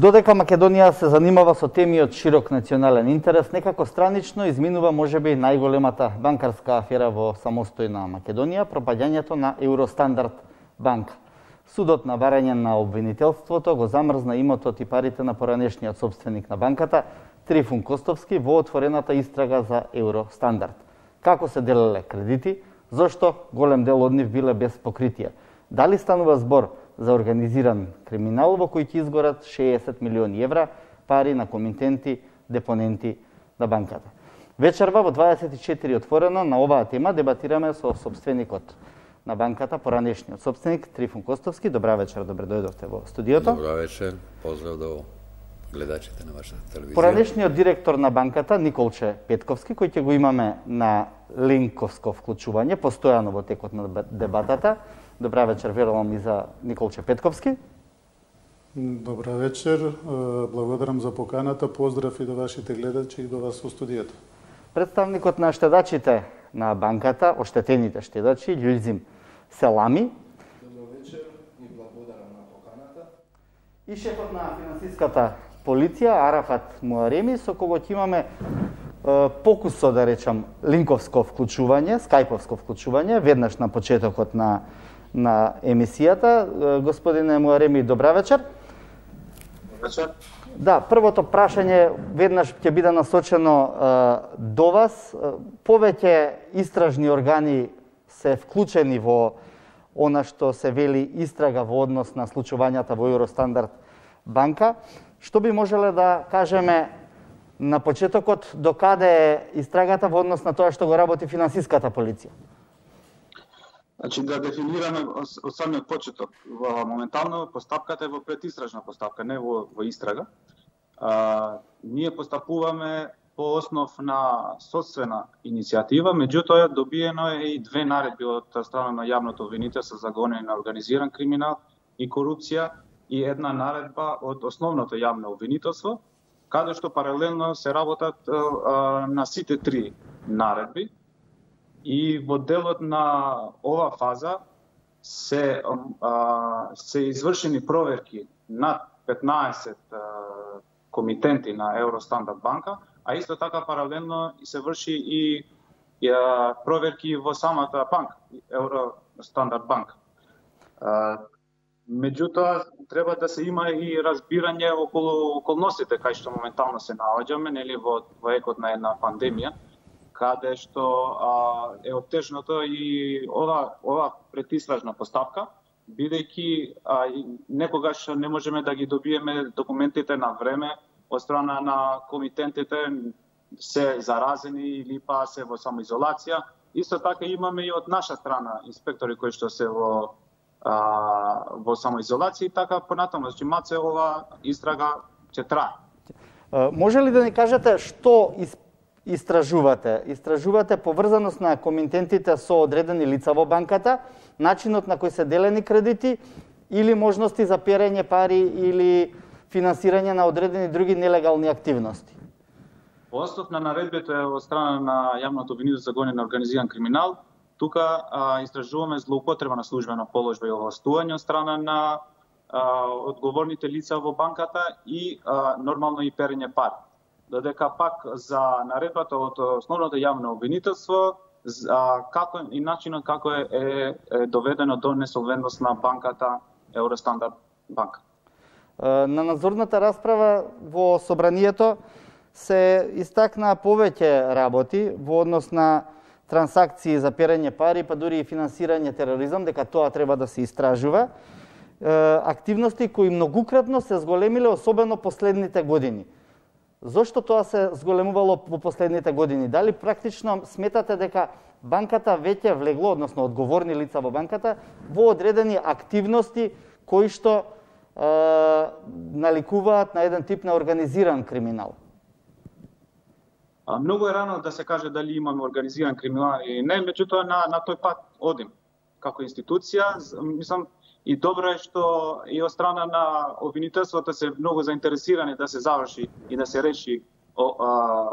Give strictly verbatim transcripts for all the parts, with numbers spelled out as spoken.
Додека Македонија се занимава со теми од широк национален интерес, некако странично изминува можеби најголемата банкарска афера во самостојна Македонија, пропаѓањето на Евростандард банка. Судот на барање на обвинителството го замрзна имотот и парите на поранешниот собственик на банката, Трифун Костовски, во отворената истрага за Евростандард. Како се делеле кредити, зошто голем дел од нив биле без покритие? Дали станува збор за организиран криминал во кој ќе изгорат шеесет милиони евра пари на комитенти, депоненти на банката? Вечерва во дваесет и четири отворено на оваа тема дебатираме со собственикот на банката, поранешниот собственик Трифун Костовски. Добра вечер, добре дојдовте во студиото. Добра вечер, поздрав до гледачите на вашата телевизија. Поранешниот директор на банката Николче Петковски, кој ќе го имаме на линковско вклучување постојано во текот на дебатата. Добра вечер, верувам и за Николче Петковски. Добра вечер, благодарам за поканата, поздрав и до вашите гледачи и до вас во студиото. Представникот на штедачите на банката, оштетените штедачи, Љузим Селами. Добро вечер и благодарам на поканата. И шефот на финансиската полиција, Арафат Муареми, со кого ќе имаме е, покусо, да речам, линковско вклучување, скајповско вклучување, веднаш на почетокот на на емисијата. Господине Муареми, добра вечер. Добра вечер. Да, првото прашање веднаш ќе биде насочено е, до вас. Повеќе истражни органи се вклучени во она што се вели истрага во однос на случувањата во Евростандард банка. Што би можеле да кажеме на почетокот, до каде е истрагата во однос на тоа што го работи финансиската полиција? Значи, да дефинираме од самиот почеток. Во моментално постапката е во предистражна постапка, не во, во истрага. А, ние постапуваме по основ на содствена иницијатива, меѓутоа добиено е и две наредби од страна на јавното обвинителство за гонење на организиран криминал и корупција и една наредба од основното јавно обвинителство, каде што паралелно се работат а, на сите три наредби. И во делот на ова фаза се, а, се извршени проверки над петнаесет а, комитенти на Евростандард банка, а исто така паралелно се врши и, и а, проверки во самата банка, Евростандард банка. А, меѓутоа, треба да се има и разбирање околу околностите кај што моментално се наоѓаме, нели во, во екот на една пандемија, каде што а, е оттежното и ова, ова предистражна постапка, бидејќи а, некогаш не можеме да ги добиеме документите на време од страна на комитентите, се заразени или па се во самоизолација. Исто така имаме и од наша страна инспектори кои што се во, а, во самоизолација, и така понатаму, значи маце ова истрага ќе трае. Може ли да ни кажете што из истражувате? Истражувате поврзаност на комитентите со одредени лица во банката, начинот на кој се делени кредити или можности за перење пари или финансирање на одредени други нелегални активности? По основ на наредбите од страна на јавното обвинителство за гонење на организиран криминал, тука а, истражуваме злоупотреба на службена положба и овластување од страна на а, одговорните лица во банката и а, нормално и перење пари. Додека пак за наредбата од основното јавно обвинителство, за како и начинот како е, е, е доведено до несолвентност на банката Евростандард банка. На надзорната расправа во собранието се истакна повеќе работи во однос на трансакции за перење пари, па дури и финансирање тероризам, дека тоа треба да се истражува. Активности кои многукратно се зголемиле, особено последните години. Зошто тоа се зголемувало во последните години? Дали практично сметате дека банката веќе влегло, односно одговорни лица во банката, во одредени активности кои што е, наликуваат на еден тип на организиран криминал? А, многу е рано да се каже дали имаме организиран криминал или не, меѓутоа на, на тој пат одим. Како институција, мислам, и добро е што и од страна на обвинителството се многу заинтересирани да се заврши и да се реши о, а,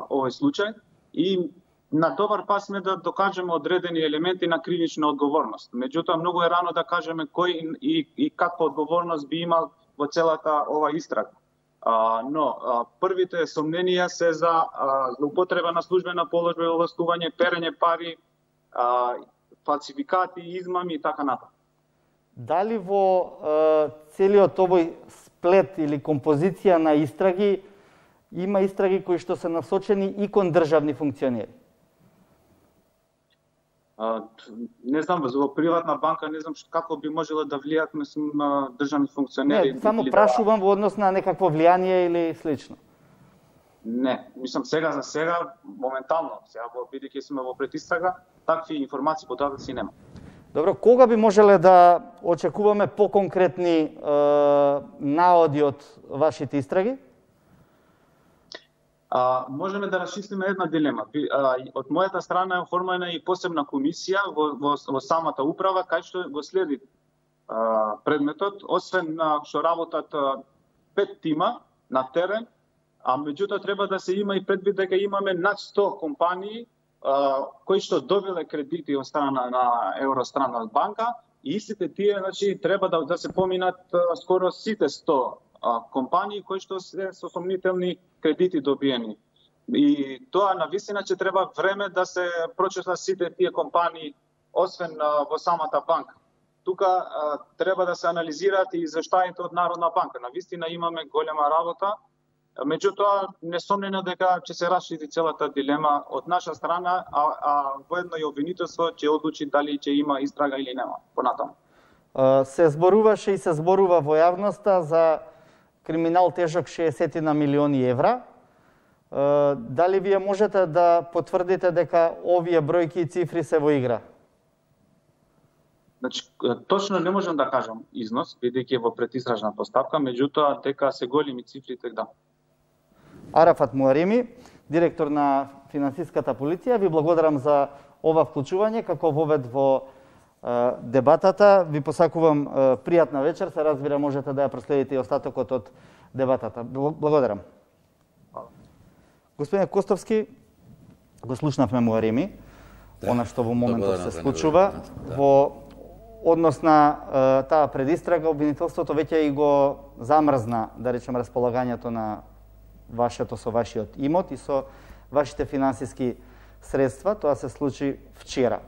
овој случај. И на добар пат сме да докажеме одредени елементи на кривична одговорност. Меѓутоа, многу е рано да кажеме кој и, и каква одговорност би имал во целата ова истрага. А, но а, првите сомненија се за а, злоупотреба на службена положба и овластување, перење пари, а, фалсификати, измами и така натаму. Дали во е, целиот овој сплет или композиција на истраги има истраги кои што се насочени и кон државни функционери? А, не знам, во приватна банка не знам како би можела да влијат мислам државни функционери. Не, само или прашувам да... во однос на некакво влијание или слично. Не, мислам сега за сега моментално, сега бидејќи сме во предистрага, такви информации податоци нема. Добро, кога би можеле да очекуваме поконкретни е, наоди од вашите истраги? А, можеме да расчистиме една дилема. А, од мојата страна е оформена и посебна комисија во, во, во самата управа, кај што го следи а, предметот, освен на што работат а, пет тима на терен, а меѓутоа треба да се има и предвид дека имаме над сто компании а, кои што добиле кредити од страна на Евространна банка и истите тие, значи, треба да, да се поминат а, скоро сите сто а, компании кои што се со сомнителни кредити добиени. И тоа навистина че треба време да се прочесат сите тие компании, освен а, во самата банка. Тука а, треба да се анализираат и извештаите од Народна банка. Навистина имаме голема работа. Меѓутоа, несомнено дека ќе се расшири целата дилема од наша страна, а, а воедно и обвинителство ќе одлучи дали ќе има истрага или нема понатаму. Се зборуваше и се зборува во јавноста за криминал тежок шеесет на милиони евра. Дали вие можете да потврдите дека овие бројки и цифри се во игра? Значи, точно не можам да кажам износ, бидејќи во предистражна постапка, меѓутоа дека се големи цифрите, да. Арафат Муареми, директор на финансиската полиција, ви благодарам за ова вклучување како вовед во е, дебатата. Ви посакувам е, пријатна вечер, се разбира можете да ја проследите и остатокот од дебатата. Благодарам. Господин Костовски, го слушнавме Муареми, да, она што во моментот се случува. Да. Во однос на е, таа предистрага, обвинителството веќе и го замрзна, да речем, располагањето на вашето со вашиот имот и со вашите финансиски средства. Тоа се случи вчера.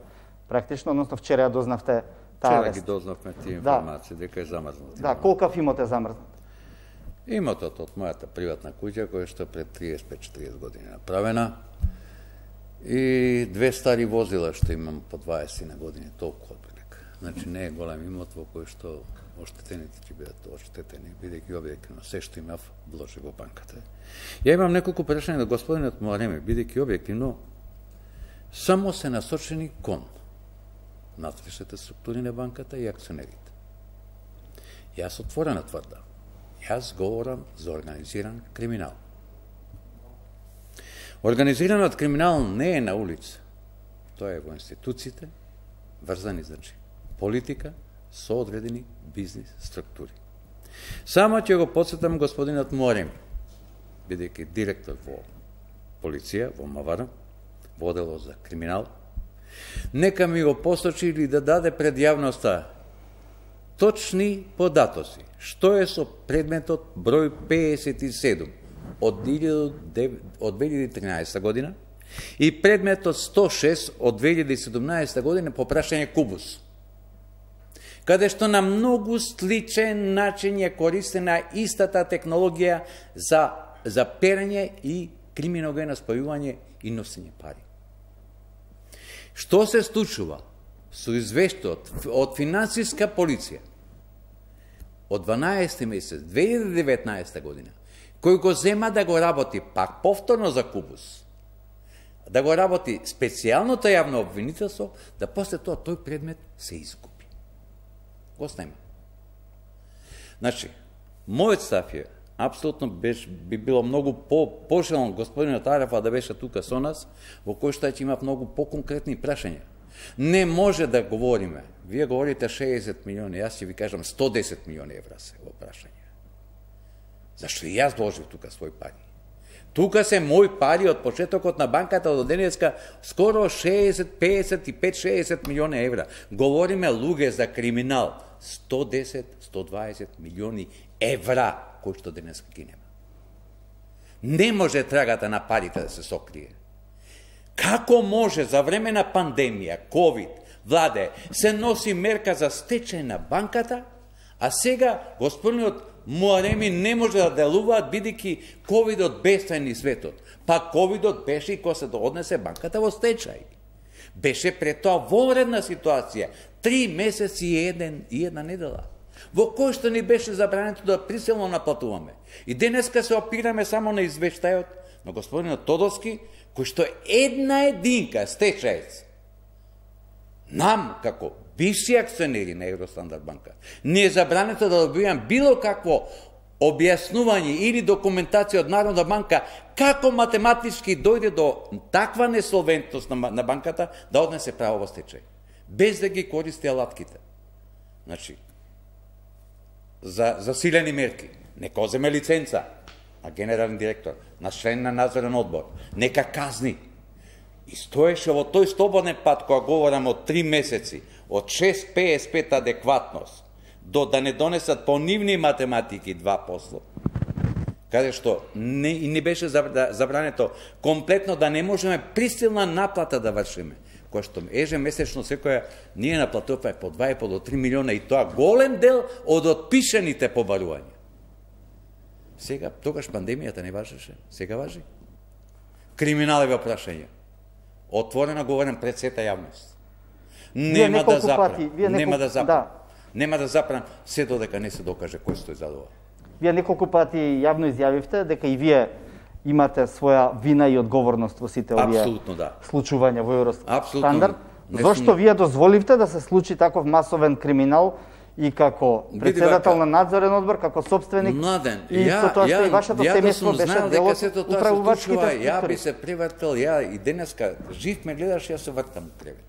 Практично, односно вчера ја дознавте таа вест. Вчера ги дознавме тие информации, да, дека е замрзнат. Да, колкав имот е замрзнат? Имотот од мојата приватна куќа, која што пред триесет до четириесет години направена, и две стари возила што имам по дваесет на години, толку отприлика. Значи не е голем имот во кој што оштетените ќе бидат оштетени, бидејќи објективно се што имав вложи во банката. Ја имам неколку прашања на господинот Муареми, бидејќи објективно само се насочени кон внатрешните структури на банката и акционерите. Јас отворено тврдам. Јас говорам за организиран криминал. Организираниот криминал не е на улица. Тоа е во институциите, врзани, значи, политика со одредени бизнис структури. Само ќе го подсетам господинот Муареми, бидејќи директор во полиција, во МВР, во одело за криминал, нека ми го посочи или да даде пред јавноста точни податоци. Што е со предметот број пеесет и седум од две илјади и тринаесета година и предметот сто и шест од две илјади и седумнаесета година по прашање Кубус, каде што на многу сличен начин ја користена истата технологија за, за перење и криминогено спојување и носење пари. Што се случува со извештајот од финансиска полиција од дванаесети месец две илјади и деветнаесета година, кој го зема да го работи пак повторно за Кубус, да го работи специјалното јавно обвинителство, да после тоа тој предмет се изгуби. Го снема. Значи, мојот став е, апсолутно беше, би било многу по, пожелно господинот Арафа да беше тука со нас, во кој што ќе има многу по-конкретни прашања. Не може да говориме. Вие говорите шеесет милиони, јас ќе ви кажам сто и десет милиони евра се во прашање. Зашто и јас вложив тука свој пари. Тука се мои пари од почетокот на банката до денеска скоро шеесет, пеесет и пет шеесет милиони евра. Говориме луѓе за криминал. сто и десет, сто и дваесет милиони евра кои што денеска ги нема. Не може трагата на парите да се сокрие. Како може за време на пандемија, ковид, владе, се носи мерка за стечај на банката, а сега господинот Муареми не може да делуваат бидејќи ковидот беше ни светот. Па ковидот беше и кога се однесе банката во стечај. Беше пред тоа вонредна ситуација, три месеци и, еден, и една недела, во кој што ни беше забрането да приселно наплатуваме. И денеска се опираме само на извештајот на господинот Тодоски, кој што една единка стечаец. Нам, како бивши акционери на Евростандард банка, не е забрането да добивам било какво објаснување или документација од Народна банка како математички дојде до таква несолвентност на, на банката да однесе право во стечај, без да ги користи алатките. Значи, за засилени мерки, нека оземе лиценца на генерален директор, на член на надзорен одбор, нека казни. И стоеше во тој слободен пат, кога говорам од три месеци, од шест педесет и пет адекватност, до да не донесат по нивни математики два посла, каде што не, не беше забрането комплетно да не можеме присилна наплата да вршиме, која што ежемесечно секоја ние наплатуваме по два и по до три милиона, и тоа голем дел од отпишените побарувања. Сега, тогаш пандемијата не важеше, сега важи. Криминалови опрашања. Отворено говорам пред сета јавност. Нема да запрам, нема да запрам. Нема да запрам се додека не се докаже кој стои за ова. Вие неколку пати јавно изјавивте дека и вие имате своја вина и одговорност во сите овие да. случувања во Евростандард. Зошто вие дозволивте да се случи таков масовен криминал и како председател на надзорен одбор, како собственик, Младен, и ја, со тоа што ја, и вашето ја семејство да беше дел од управувачките структури. Ја би структури. се привртел, ја и денеска жив ме гледаш, ја се вртам у кревет.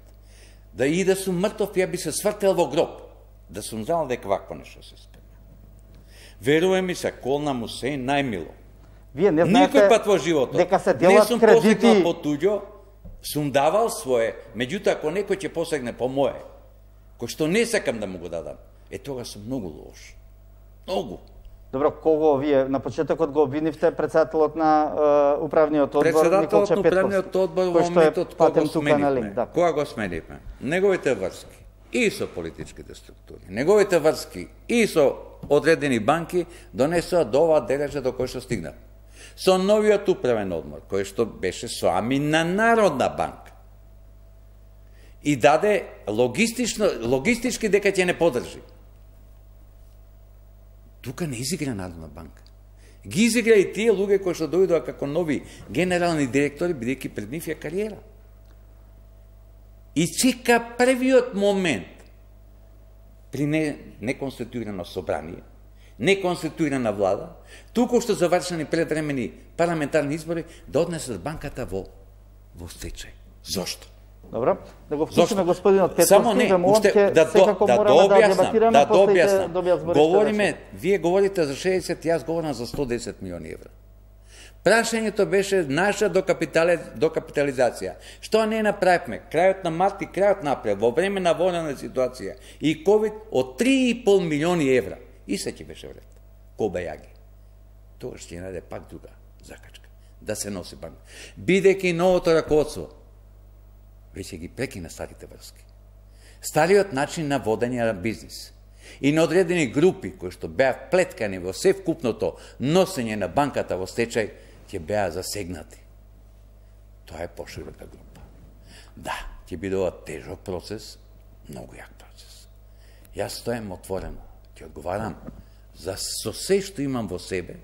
Да и да сум мртов, ја би се свртел во гроб, да сум знал дека вакво нешто се спрема. Веруваме ми се, колна му се најмило. Вие не знаете никој пат во животот. Дека се делат не сум кредити посегнал по туѓо, сум давал свое, меѓутоа ако некој ќе посегне по мое, кој што не сакам да му го дадам, е тога сум многу лош. Многу. Добро, кого вие на почетокот го обвинивте председателот на uh, управниот одбор Николче Петков? Председателот на управниот одбор во моментот кога го сменивме. Да. Кога го сменивме? Неговите врски и со политичките структури, неговите врски и со одредени банки донесоа до оваа дележа до кој што стигна. Со новиот управен одбор, кој што беше со ами на Народна банка. И даде логистично, логистички дека ќе не подржи. Тука не изигра Народна банка. Ги изигра и тие луѓе кои што дојдоа како нови генерални директори, бидејќи пред нив е кариера. И чека првиот момент при не, неконституирано собрание, неконституирана влада, туку што завршени предвремени парламентарни избори, да однесат банката во, во стечај. Зошто? Добро, да го вклучиме господинот Петковски, само не, уште, да, секако да, мораме да, да дебатираме, да после добија збориште. Говориме, вие говорите за шеесет, јас говорам за сто десет милиони евра. Прашањето беше наша докапитали... докапитализација. Што не направивме? Крајот на март и крајот на април, во време на военна ситуација и ковид, од три и пол милиони евра. И се ќе беше вред. Коба јаги. Тоа ќе најде пак друга закачка. Да се носи банк. Бидејќи новото раководство веќе ги прекина старите врски. Стариот начин на водење на бизнис и на одредени групи кои што беа вплеткани во се вкупното носење на банката во стечај, ќе беа засегнати. Тоа е поширока група. Да, ќе биде ова тежок процес, многу јак процес. Јас стојам отворено, ќе одговарам за со се што имам во себе,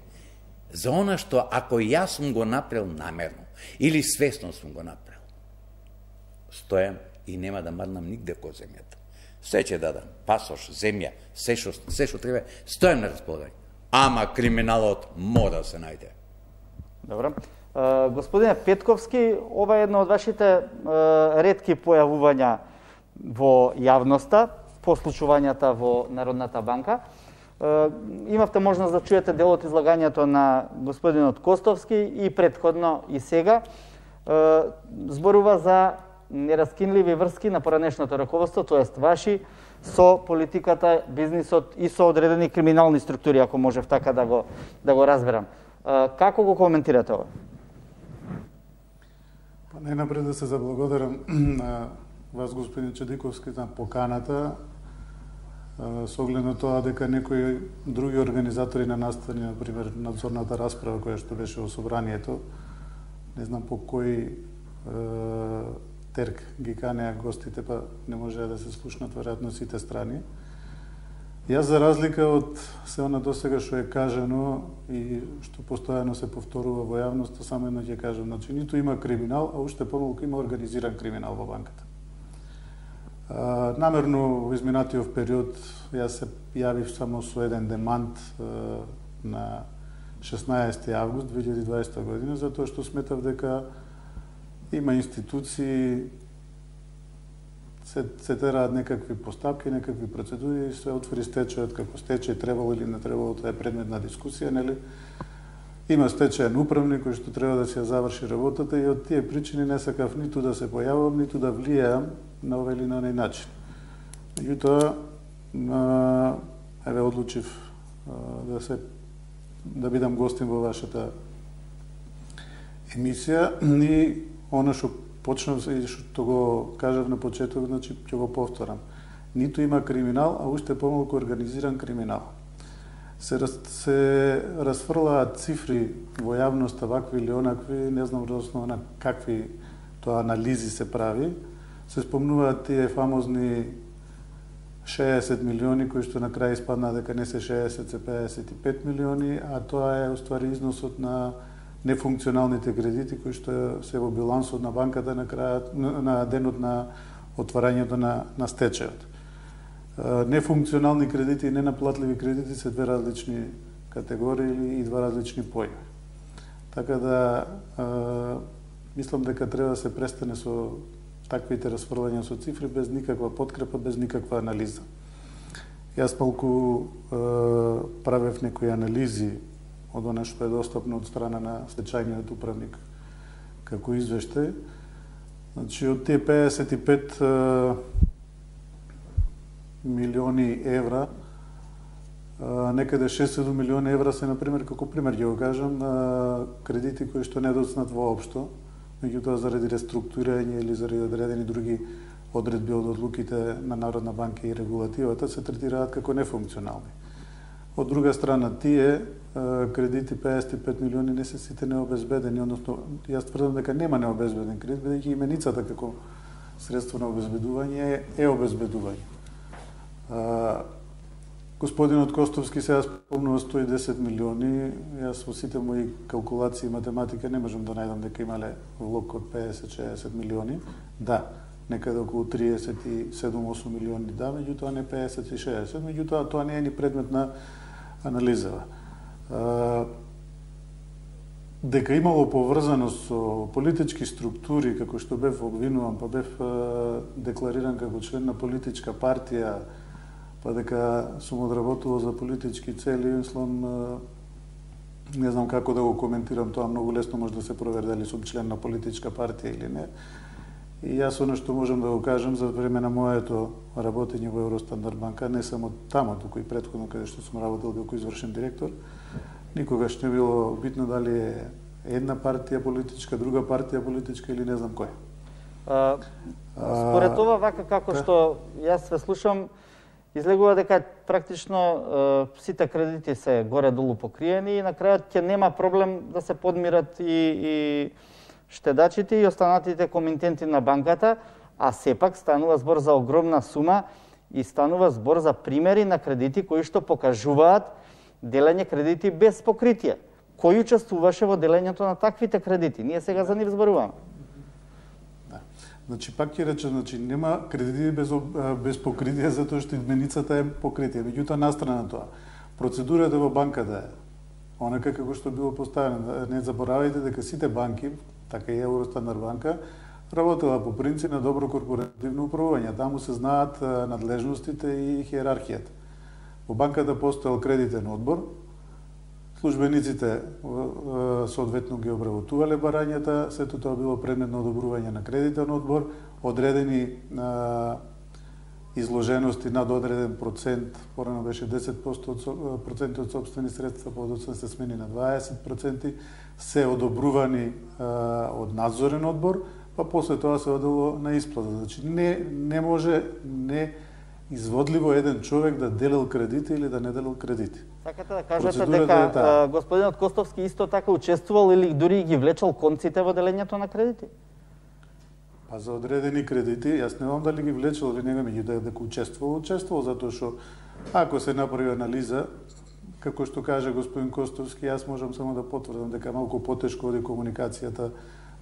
за она што ако јас сум го направил намерно или свесно сум го направил, стојам и нема да марнам нигде ко земјата. Се ќе дадам, пасош, земја, се што, се што треба, стојам на располагање. Ама криминалот мора да се најде. Добро. Uh, господине Петковски, ова е едно од вашите uh, ретки појавувања во јавноста по случувањата во Народната банка. Uh, имавте можност да чуете дел од излагањето на господинот Костовски и претходно и сега. Uh, зборува за нераскинливи врски на поранешното раководство, тоест ваши, со политиката, бизнисот и со одредени криминални структури, ако можев така да го, да го разберам. Како го коментирате ова? Па најнапред да се заблагодарам на вас, господин Чедиковски, на поканата, со оглед на тоа дека некои други организатори на настани, например, надзорната расправа која што беше во собранието, не знам по кој е, терк ги канеа гостите, па не можеа да се слушнат веројатно сите страни. Јас, за разлика од се она досега што е кажано и што постојано се повторува во јавноста, само едно ќе кажам, значи ниту има криминал, а уште помалку има организиран криминал во банката. А, намерно во изминатиот период јас се јавив само со еден демант а, на шеснаесети август две илјади и дваесета година, затоа што сметав дека има институции, се, се тераат некакви постапки, некакви процедури и се отвори стечајот како стечај, требало или не требало, тоа е предмет на дискусија, нели? Има стечајен управник кој што треба да се заврши работата и од тие причини не сакав ниту да се појавам, ниту да влијам на овој или на оној начин. Меѓутоа, еве одлучив да се да бидам гостин во вашата емисија и она што почнав и што го кажав на почеток, значи ќе го повторам. Ниту има криминал, а уште помалку организиран криминал. Се, раз, се разфрлаат цифри во јавноста, вакви или онакви, не знам во основа на какви тоа анализи се прави. Се спомнуваат тие фамозни шеесет милиони, кои што на крај испадна дека не се шеесет, се пеесет и пет милиони, а тоа е уствари износот на нефункционалните кредити кои што се во билансот на банката на крајот на денот на отварањето на на стечајот. Нефункционални кредити и ненаплатливи кредити се две различни категории и два различни појми. Така да мислам дека треба да се престане со таквите расфрлања со цифри без никаква подкрепа, без никаква анализа. Јас малку правев некои анализи од она што е достапно од страна на стечајниот управник како извештај. Значи, од тие пеесет и пет милиони евра, некаде шест-седум милиони евра се, например, како пример ќе го кажам, кредити кои што не доцнат воопшто, меѓутоа заради реструктурирање или заради одредени други одредби од одлуките на Народна банка и регулативата се третираат како нефункционални. Од друга страна, тие кредити пеесет и пет милиони не се сите необезбедени, односно јас тврдам дека нема необезбеден кредит, бидејќи именицата како средство на обезбедување е обезбедување. Господинот Костовски сега спомнува сто и десет милиони, јас во сите мои калкулации и математика не можам да најдам дека имале влог од пеесет до шеесет милиони. Да, некаде околу триесет и седум до осум милиони да, меѓутоа не пеесет и шеесет, меѓутоа тоа не е ни предмет на анализа. Дека имало поврзаност со политички структури, како што бев обвинуван, па бев деклариран како член на политичка партија, па дека сум одработувал за политички цели, мислам, не знам како да го коментирам тоа, многу лесно може да се провери дали сум член на политичка партија или не. И јас оно што можам да го кажам за време на моето работење во Евростандард банка, не само тамо, туку и претходно каде што сум работел како извршен директор, никогаш не било битно дали е една партија политичка, друга партија политичка или не знам кој. А, според това, вака како што јас ве слушам, излегува дека практично сите кредити се горе-долу покриени и на крајот ќе нема проблем да се подмират и, и штедачите и останатите комитенти на банката, а сепак станува збор за огромна сума и станува збор за примери на кредити кои што покажуваат делење кредити без покритие. Кој учествуваше во делењето на таквите кредити? Ние сега за нив зборуваме. Да. Значи, пак ќе речем, значи, нема кредити без, без покритие, затоа што именицата е покритие. Меѓутоа, настрана на тоа, процедурата во банката е онака како што било поставено. Не заборавајте дека сите банки, така и Евростандард банка, работела по принцип на добро корпоративно управување. Таму се знаат надлежностите и хиерархијата. Во банката постоел кредитен одбор, службениците соодветно ги обработувале барањата, сето тоа било предмет на одобрување на кредитен одбор, одредени изложености над одреден процент, порано беше десет проценти од сопствени средства, подоцна се смени на дваесет проценти, се одобрувани а, од надзорен одбор, па после тоа се одело на исплата. Значи не не може не изводливо еден човек да делил кредити или да не делил кредити. Сакате да кажете дека а, господинот Костовски исто така учествувал или дури ги влечал конците во делењето на кредити? Па за одредени кредити, јас не знам дали ги влечел или не, меѓутоа дека учествувал, учествувал, затоа што ако се направи анализа, како што каже господин Костовски, јас можам само да потврдам дека малку потешко оди комуникацијата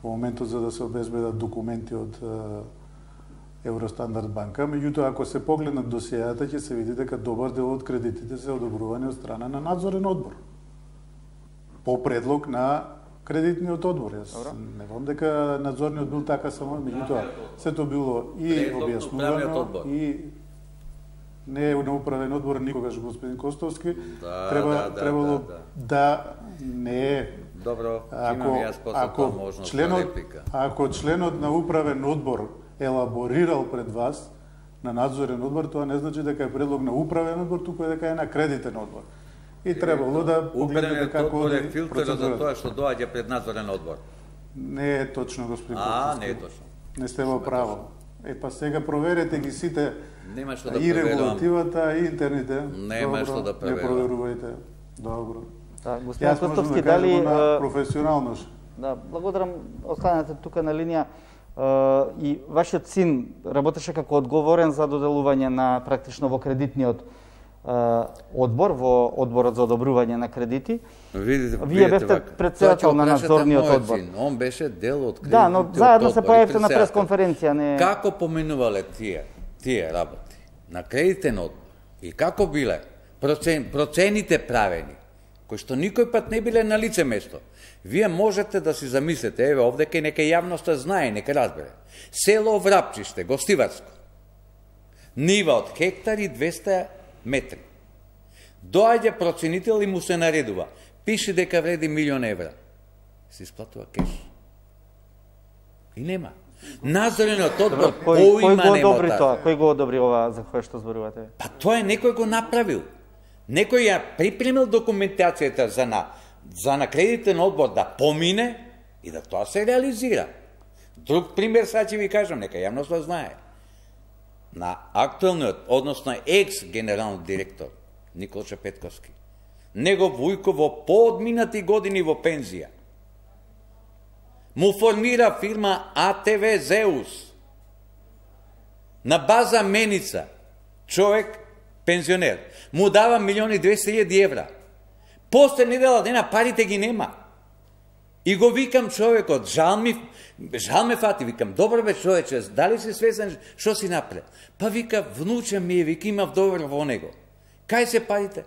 во моментот за да се обезбедат документи од Евростандард банка, меѓутоа ако се погледнат досијата ќе се види дека добар дел од кредитите се одобрувани од страна на надзорен одбор. По предлог на кредитниот одбор. Јас не знам дека надзорниот бил така само, меѓутоа сето било и објаснувано и не е на управен одбор никогаш господин Костовски. Да, треба да, да, требало да, да. да не е. Добро, ако, имам јас после ако тоа можност членот, на реплика. Ако членот на управен одбор елаборирал пред вас на надзорен одбор, тоа не значи дека е предлог на управен одбор, туку е дека е на кредитен одбор. И требало да погледнете како оди процедурата. За тоа што доаѓа пред надзорен одбор. Не е точно, господин Костовски. А, не е точно. Не сте во право. Е, па сега проверете ги сите Нема што да и проверувам. регулативата, и интерните. Нема што да проверувам. Не проверувајте. Добро. Да, господин Јас можам Костовски, да кажам дали на професионално. Да, благодарам, останете тука на линија. И вашиот син работеше како одговорен за доделување на практично во кредитниот одбор, во одборот за одобрување на кредити. Видите, Вие бевте председател на надзорниот одбор. Син. Он беше дел од кредитниот Да, но заедно се појавите на пресконференција, не. Како поминувале тие тие работи на кредитен одбор и како биле процен, процените правени, кои што никој пат не биле на лице место. Вие можете да си замислите, еве овде кај нека јавноста знае, нека разбере. Село Врапчиште, Гостиварско. Нива од хектари двесте метри. Доаѓа проценител и му се наредува. Пише дека вреди милион евра. Се исплатува кеш. И нема. Надзорниот одбор поима нема. Кој го одобри таа. тоа? Кој го одобри ова за кое што зборувате? Па тоа е некој го направил. Некој ја припремил документацијата за на за на кредитен одбор да помине и да тоа се реализира. Друг пример сега ќе ви кажам, нека јавноста знае. На актуелниот, односно екс генерален директор Николче Петковски, него Вујко во поодминати години во пензија му формира фирма А Т В Зеус на база меница, човек пензионер, му дава милиони двесте илјади евра. После недела дена парите ги нема. И го викам човекот, жал ми, жал ме фати, викам, добро бе човече, дали си свесен што си напред? Па вика, внуче ми е, вика, имав довер во него. Кај се парите?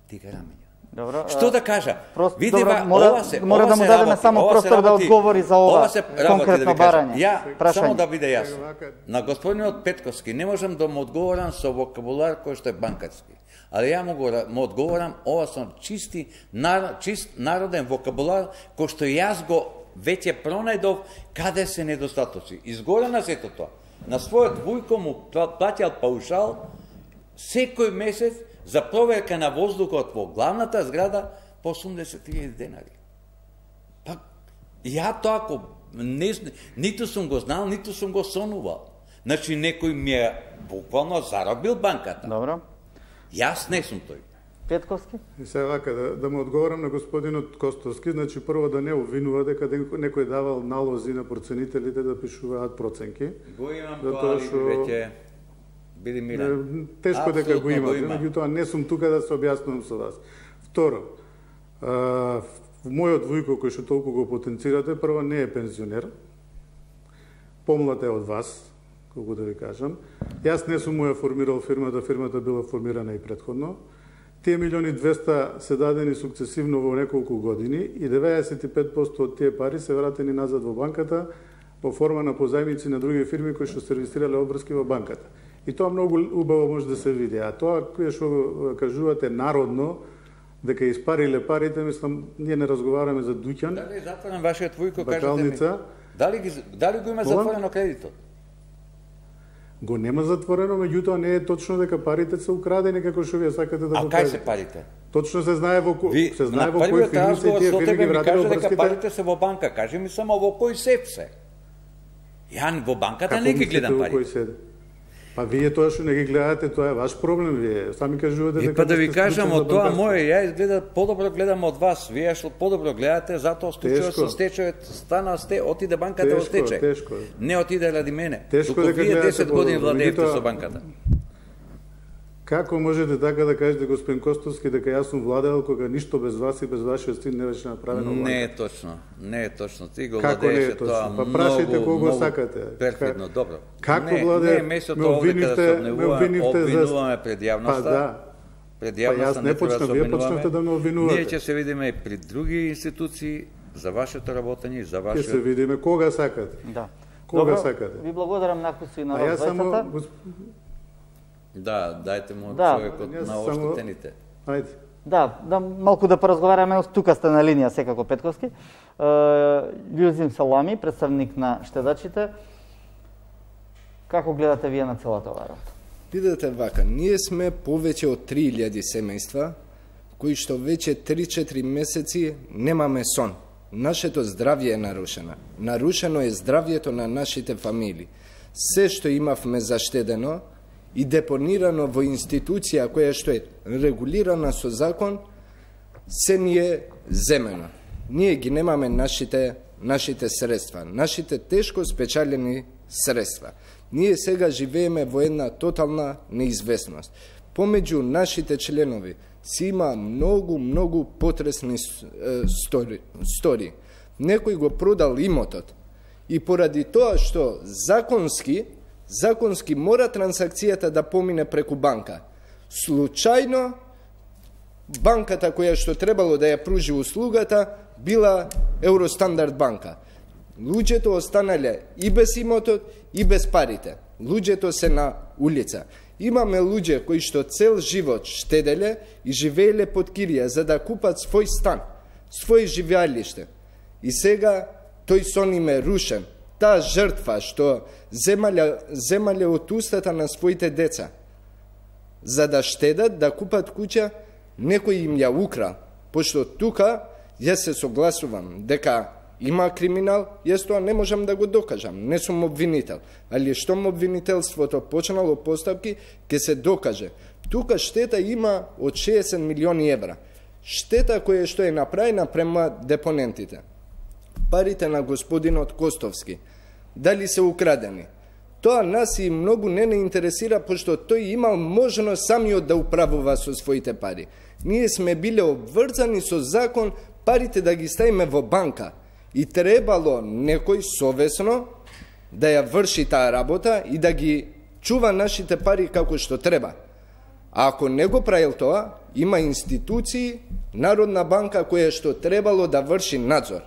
Тига раменја. Добро. Што да кажа? Просто, Види, добро, мора, ова се, мора ова да му се дадеме работи, само простор да одговори за ова, ова се работи, конкретно да ви кажам. барање. Ја, прашање. само да биде јасно. На господинот Петковски не можам да му одговорам со вокабулар кој што е банкарски. Ali ja mogu mu odgovoram, ovo sam čisti, nar, čist naroden vokabular, ko što jaz go već je pronajdov kada se nedostatoci. Izgore na sve to. Na svojot Vujko mu plaćal paušal sekoj mesec za proverka na vozduhot во главната зграда по осумдесет илјади денари. Pa ja to ako ne, nito sam го znal, nito sam go sonuvao. Znači, nekoj mi je bukvalno заробил банката. Добро. Јас не сум тој. Петковски? И сега вака, да, да му одговорам на господинот Костовски, значи прво да не обвинува дека некој давал налози на проценителите да пишуваат проценки. Го имам тоа, шо... веќе биди мирен. Тешко дека го имате, меѓутоа не сум тука да се објаснувам со вас. Второ, а, мојот Вујко кој што толку го потенцирате, прво не е пензионер, помлад е од вас, колку да ви кажам. Јас не сум му ја формирал фирмата, фирмата била формирана и претходно. Тие милиони двесте се дадени сукцесивно во неколку години и деветдесет и пет проценти од тие пари се вратени назад во банката во форма на позајмици на други фирми кои што сервисирале обврски во банката. И тоа многу убаво може да се види. А тоа кое што кажувате народно, дека испариле парите, мислам, ние не разговараме за дуќан. Дали е затворен вашиот Вујко, кажете ми? Бакалница. Дали, ги, дали го има затворено кредитот? го нема затворено, меѓутоа не е точно дека парите се украдени како што вие сакате да а го кај кажете. се парите? Точно се знае во кој Ви, се знае на во кој првиот фирми се разговор тие со фирми тебе ги ми вратиле кажа дека врските. парите се во банка. Кажи ми само во кој сеф се. Ја во банката не ги гледам парите. Па вие тоа што не ги гледате, тоа е ваш проблем, вие сами кажувате дека... Е, па да ви сте кажам, склучен од за тоа банкарство. моје, ја изгледа подобро гледам од вас. Вие што подобро гледате, затоа случајот со стечајот стана сте, отиде банката во Тешко, стечај. тешко. Не отиде ради мене. Тешко Туку дека вие гледате десет години подобро, владеевте меѓутоа- со банката. Како можете така да кажете, господин Костовски, дека јас сум владеел кога ништо без вас и без вашиот стил не беше направено? Не е точно, не е точно. Ти го Како не е владееше точно? тоа Па многу, прашајте кого многу сакате. перфидно, добро. Како не, владее? Не е место Ме тоа овде каде обвинивте- се ме обвинуваме, обвинивте за- обвинуваме пред јавноста. Па да. Пред Па јавноста јас не треба да почнав, се вие обвинуваме. почнавте да ме обвинувате. Ние ќе се видиме и при други институции за вашето работење и за Ќе вашиот... се видиме кога сакате. Да. Кога Добро, сакате? Ви благодарам на кој и на А вас јас само... двајцата. гос- Да, дајте му Да. човекот Јас на само- оштетените. Ајде. Да, да малку да поразговараме, тука сте на линија секако Петковски. Љузим Салами, представник на штедачите. Како гледате вие на целата оваа работа? Видете вака, ние сме повеќе од три илјади семејства кои што веќе три-четири месеци немаме сон. Нашето здравје е нарушено. Нарушено е здравјето на нашите фамилии. Се што имавме заштедено и депонирано во институција која што е регулирана со закон, се ни е земено. Ние ги немаме нашите, нашите средства, нашите тешко спечалени средства. Ние сега живееме во една тотална неизвестност. Помеѓу нашите членови си има многу, многу потресни стори. стори. Некој го продал имотот и поради тоа што законски, законски мора трансакцијата да помине преку банка. Случајно, банката која што требало да ја пружи услугата била Евростандард банка. Луѓето останале и без имотот, и без парите. Луѓето се на улица. Имаме луѓе кои што цел живот штеделе и живееле под кирија за да купат свој стан, свој живеалиште. И сега тој сон им е рушен. Таа жртва што земале, земале од устата на своите деца за да штедат, да купат куќа, некој им ја украл. Пошто тука јас се согласувам дека има криминал, јас тоа не можам да го докажам, не сум обвинител. Али штом обвинителството почнало постапки, ќе се докаже. Тука штета има од шеесет милиони евра. Штета која што е направена према депонентите. Парите на господинот Костовски, дали се украдени? Тоа нас и многу не не интересира, пошто тој имал можност самиот да управува со своите пари. Ние сме биле обврзани со закон парите да ги ставиме во банка. И требало некој совесно да ја врши таа работа и да ги чува нашите пари како што треба. А ако не го правил тоа, има институции, Народна банка која што требало да врши надзор.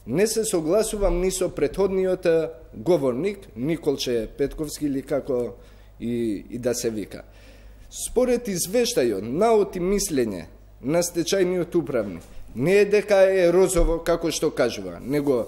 Не се согласувам ни со претходниот говорник, Николче Петковски или како и, и да се вика. Според извештајот, наод и мислење на стечајниот управник, не е дека е розово како што кажува, него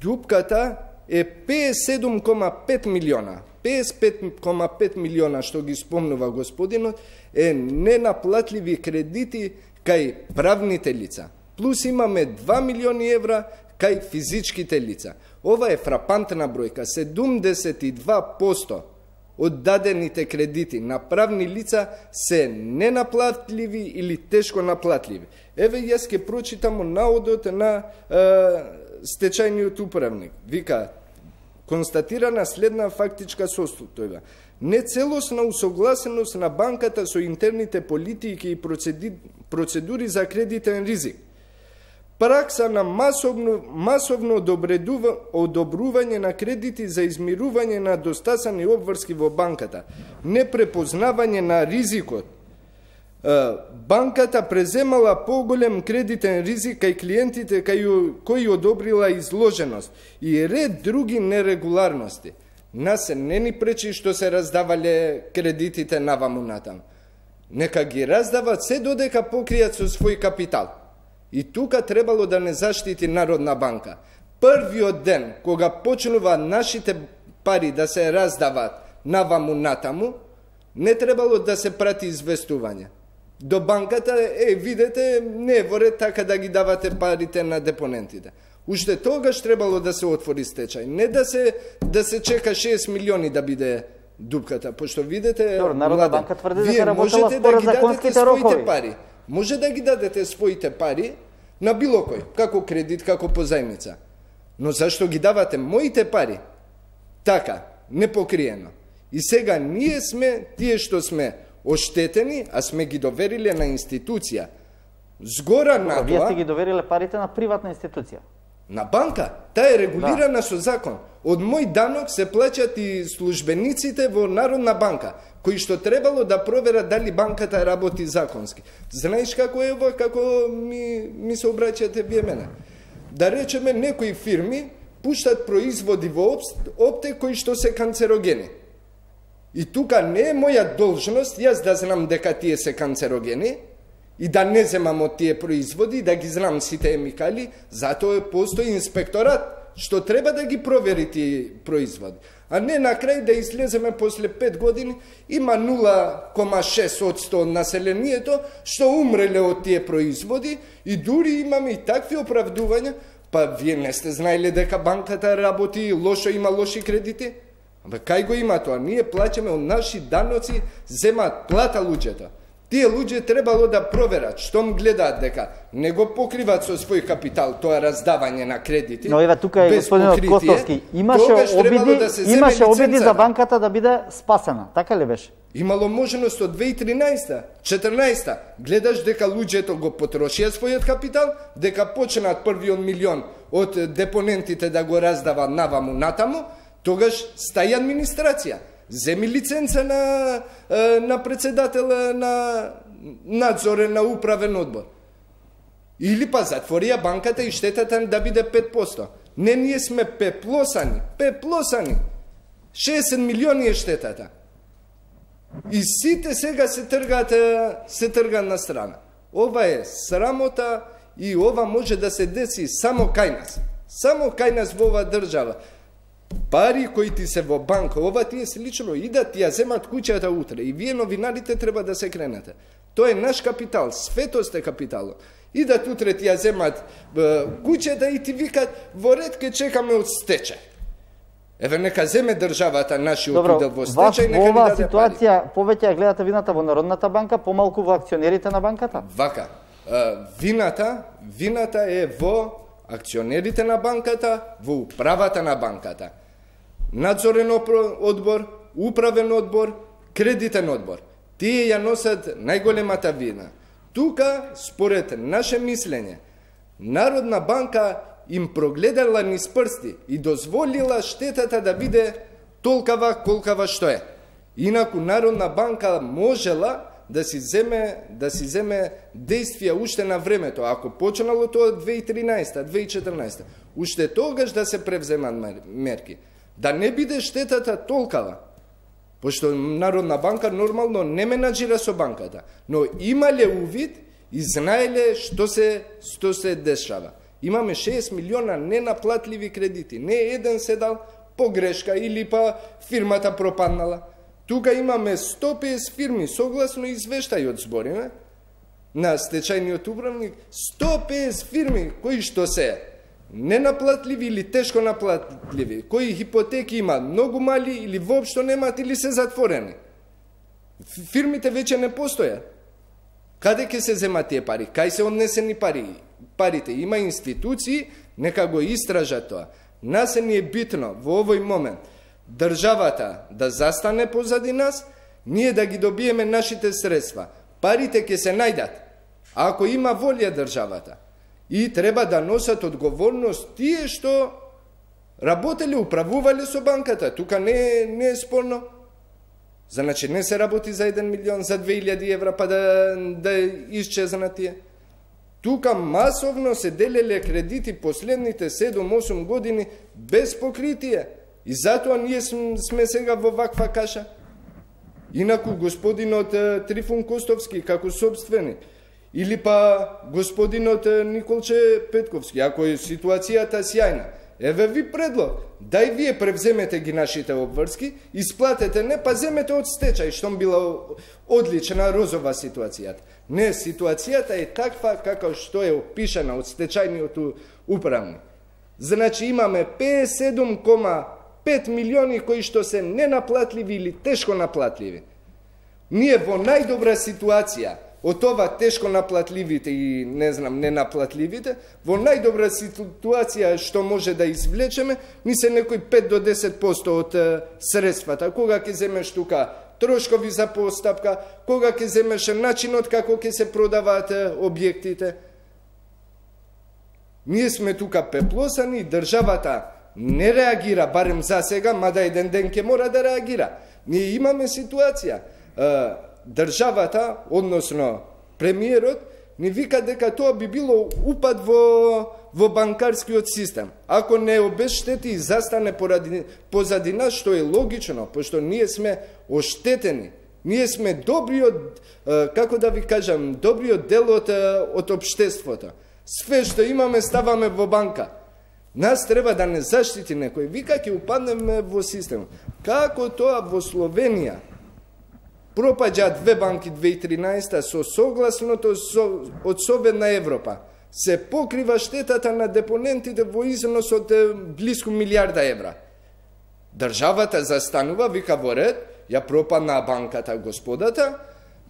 дупката е петдесет и седум кома пет милиона. петдесет и пет кома пет милиона што ги спомнува господинот е ненаплатливи кредити кај правните лица. Плюс имаме два милиони евра кај физичките лица. Ова е фрапантна бројка. седумдесет и два проценти од дадените кредити на правни лица се ненаплатливи или тешко наплатливи. Еве јас ќе прочитам наодот на е, стечајниот управник. Вика, констатирана следна фактичка состојба. Нецелосна усогласеност на банката со интерните политики и процедури за кредитен ризик. Пракса на масовно, масовно одобрување на кредити за измирување на достасани обврски во банката, непрепознавање на ризикот. Банката преземала поголем кредитен ризик кај клиентите кај кои одобрила изложеност и ред други нерегуларности. Нас се не ни пречи што се раздавале кредитите наваму натам. Нека ги раздават се додека покријат со свој капитал. И тука требало да не заштити Народна банка. Првиот ден, кога почнува нашите пари да се раздават наваму натаму, не требало да се прати известување до банката, е, видете, не е во ред така да ги давате парите на депонентите. Уште тогаш требало да се отвори стечај, не да се да се чека шест милиони да биде дупката, пошто видите, Добро, Народна банка тврди дека вие работела можете според да ги дадете законските своите рокови. пари. Може да ги дадете своите пари на било кој, како кредит, како позајмица. Но зашто ги давате моите пари? Така, непокриено. И сега ние сме тие што сме оштетени, а сме ги довериле на институција. Згора на Вие тоа, сте ги довериле парите на приватна институција. на банка. Таа е регулирана да. со закон. Од мој данок се плаќат и службениците во Народна банка, кои што требало да проверат дали банката работи законски. Знаеш како е ова, како ми, ми се обраќате вие мене? Да речеме, некои фирми пуштат производи во опте кои што се канцерогени. И тука не е моја должност јас да знам дека тие се канцерогени и да не земам од тие производи, да ги знам сите емикали, затоа постои инспекторат што треба да ги провери тие производи. А не на крај да излеземе после пет години, има нула кома шест одсто од населението што умреле од тие производи и дури имаме и такви оправдувања, па вие не сте знаеле дека банката работи лошо, има лоши кредити? Абе, кај го има тоа? Ние плаќаме од наши даноци, земаат плата луѓето. Тие луѓе требало да проверат, штом гледаат дека не го покриват со свој капитал тоа раздавање на кредити. Но еве тука е господинот Костовски, имаше обиди, да имаше обиди за банката да биде спасена, така ли беше? Имало можност од две илјади и тринаесета, четрнаесета, гледаш дека луѓето го потрошија својот капитал, дека почнат првиот милион од депонентите да го раздава наваму натаму, тогаш стаи администрација. Земи лиценца на, на председател на надзорен, на управен одбор. Или па затворија банката и штетата да биде пет посто. Не, ние сме пеплосани, пеплосани. шеесет милиони е штетата. И сите сега се тргаат, се тргаат на страна. Ова е срамота и ова може да се деси само кај нас. Само кај нас во оваа држава. Пари кои ти се во банка, ова тие се лично идат, ја земат куќата утре. И вие новинарите треба да се кренете. Тоа е наш капитал, светост е капиталот. Идат утре ти ја земат куќата и ти викат, во ред ке чекаме од стечај. Еве нека земе државата нашиот удел во стечај, нека ни даде пари. Во оваа ситуација повеќе ја гледате вината во Народната банка, помалку во акционерите на банката? Вака, вината, вината е во акционерите на банката, во управата на банката. Надзорен одбор, управен одбор, кредитен одбор. Тие ја носат најголемата вина. Тука, според наше мислење, Народна банка им прогледала низ прсти и дозволила штетата да биде толкава колкава што е. Инаку Народна банка можела да си земе да си земе действија уште на времето, ако почнало тоа две илјади и тринаесета, две илјади и четрнаесета, уште тогаш да се превземат мерки, да не биде штетата толкава. Пошто Народна банка нормално не менаџира со банката, но имале увид и знаеле што се што се дешава. Имаме шест милиона ненаплатливи кредити, не еден се дал погрешка или па фирмата пропаднала. Тука имаме сто и песет фирми, согласно извештајот збориме, на стечајниот управник, сто и песет фирми кои што се ненаплатливи или тешко наплатливи, кои хипотеки има многу мали или воопшто немаат или се затворени. Фирмите веќе не постојат. Каде ќе се земат тие пари? Кај се однесени пари? Парите има институции, нека го истражат тоа. Нас е ни е битно во овој момент државата да застане позади нас, ние да ги добиеме нашите средства. Парите ќе се најдат, ако има волја државата. И треба да носат одговорност тие што работеле, управувале со банката. Тука не, не е спорно. Значи не се работи за еден милион, за две илјади евра, па да, да исчезнат тие. Тука масовно се делеле кредити последните седум-осум години без покритие. И затоа ние сме сега во ваква каша. Инаку господинот Трифун Костовски како собственик, или па господинот Николче Петковски, ако е ситуацијата сјајна, Еве ви предлог. Дај вие превземете ги нашите обврски, исплатете не, па земете од стечај, што била одлична розова ситуацијата. Не, ситуацијата е таква како што е опишана од стечајниот управник. Значи имаме петдесет и седум кома пет милиони кои што се ненаплатливи или тешко наплатливи. Ние во најдобра ситуација од ова тешко наплатливите и не знам ненаплатливите, во најдобра ситуација што може да извлечеме, ни се некои пет до десет проценти од средствата. Кога ќе земеш тука трошкови за постапка, кога ќе земеш начинот како ќе се продаваат објектите. Ние сме тука пеплосани, државата не реагира, барем за сега, мада еден ден ќе мора да реагира. Ние имаме ситуација. Државата, односно премиерот, ни вика дека тоа би било упад во, во банкарскиот систем. Ако не обештети и застане поради, позади нас, што е логично, пошто ние сме оштетени. Ние сме добриот, како да ви кажам, добриот дел од, од општеството. Све што имаме ставаме во банка. Нас треба да не заштити некој. Вика ќе упаднеме во систем. Како тоа во Словенија пропаѓа две банки две тисачи и тринаесетта со согласното со, од Совет на Европа. Се покрива штетата на депонентите во износ од близко милиарда евра. Државата застанува, вика во ред, ја пропадна банката господата,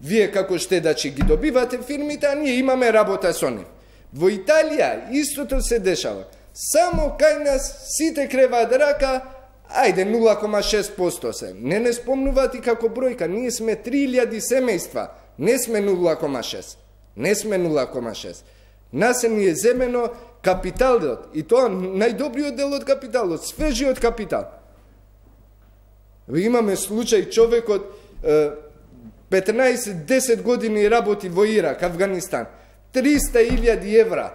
вие како штедачи ги добивате фирмите, а ние имаме работа со нив. Во Италија истото се дешава. Само кај нас сите креваат рака, ајде нула кома шест проценти се. Не не спомнуваат и како бројка, ние сме три илјади семејства, не сме нула кома шест. Не сме нула кома шест. Нас е ни е земено капиталот, и тоа најдобриот дел од капиталот, свежиот капитал. Имаме случај човекот петнаесет до десет години работи во Ирак, Афганистан, триста илјади евра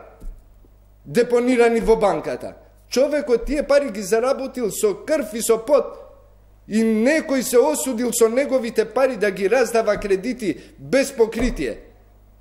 депонирани во банката. Човекот тие пари ги заработил со крв и со пот. И некој се осудил со неговите пари да ги раздава кредити без покритие.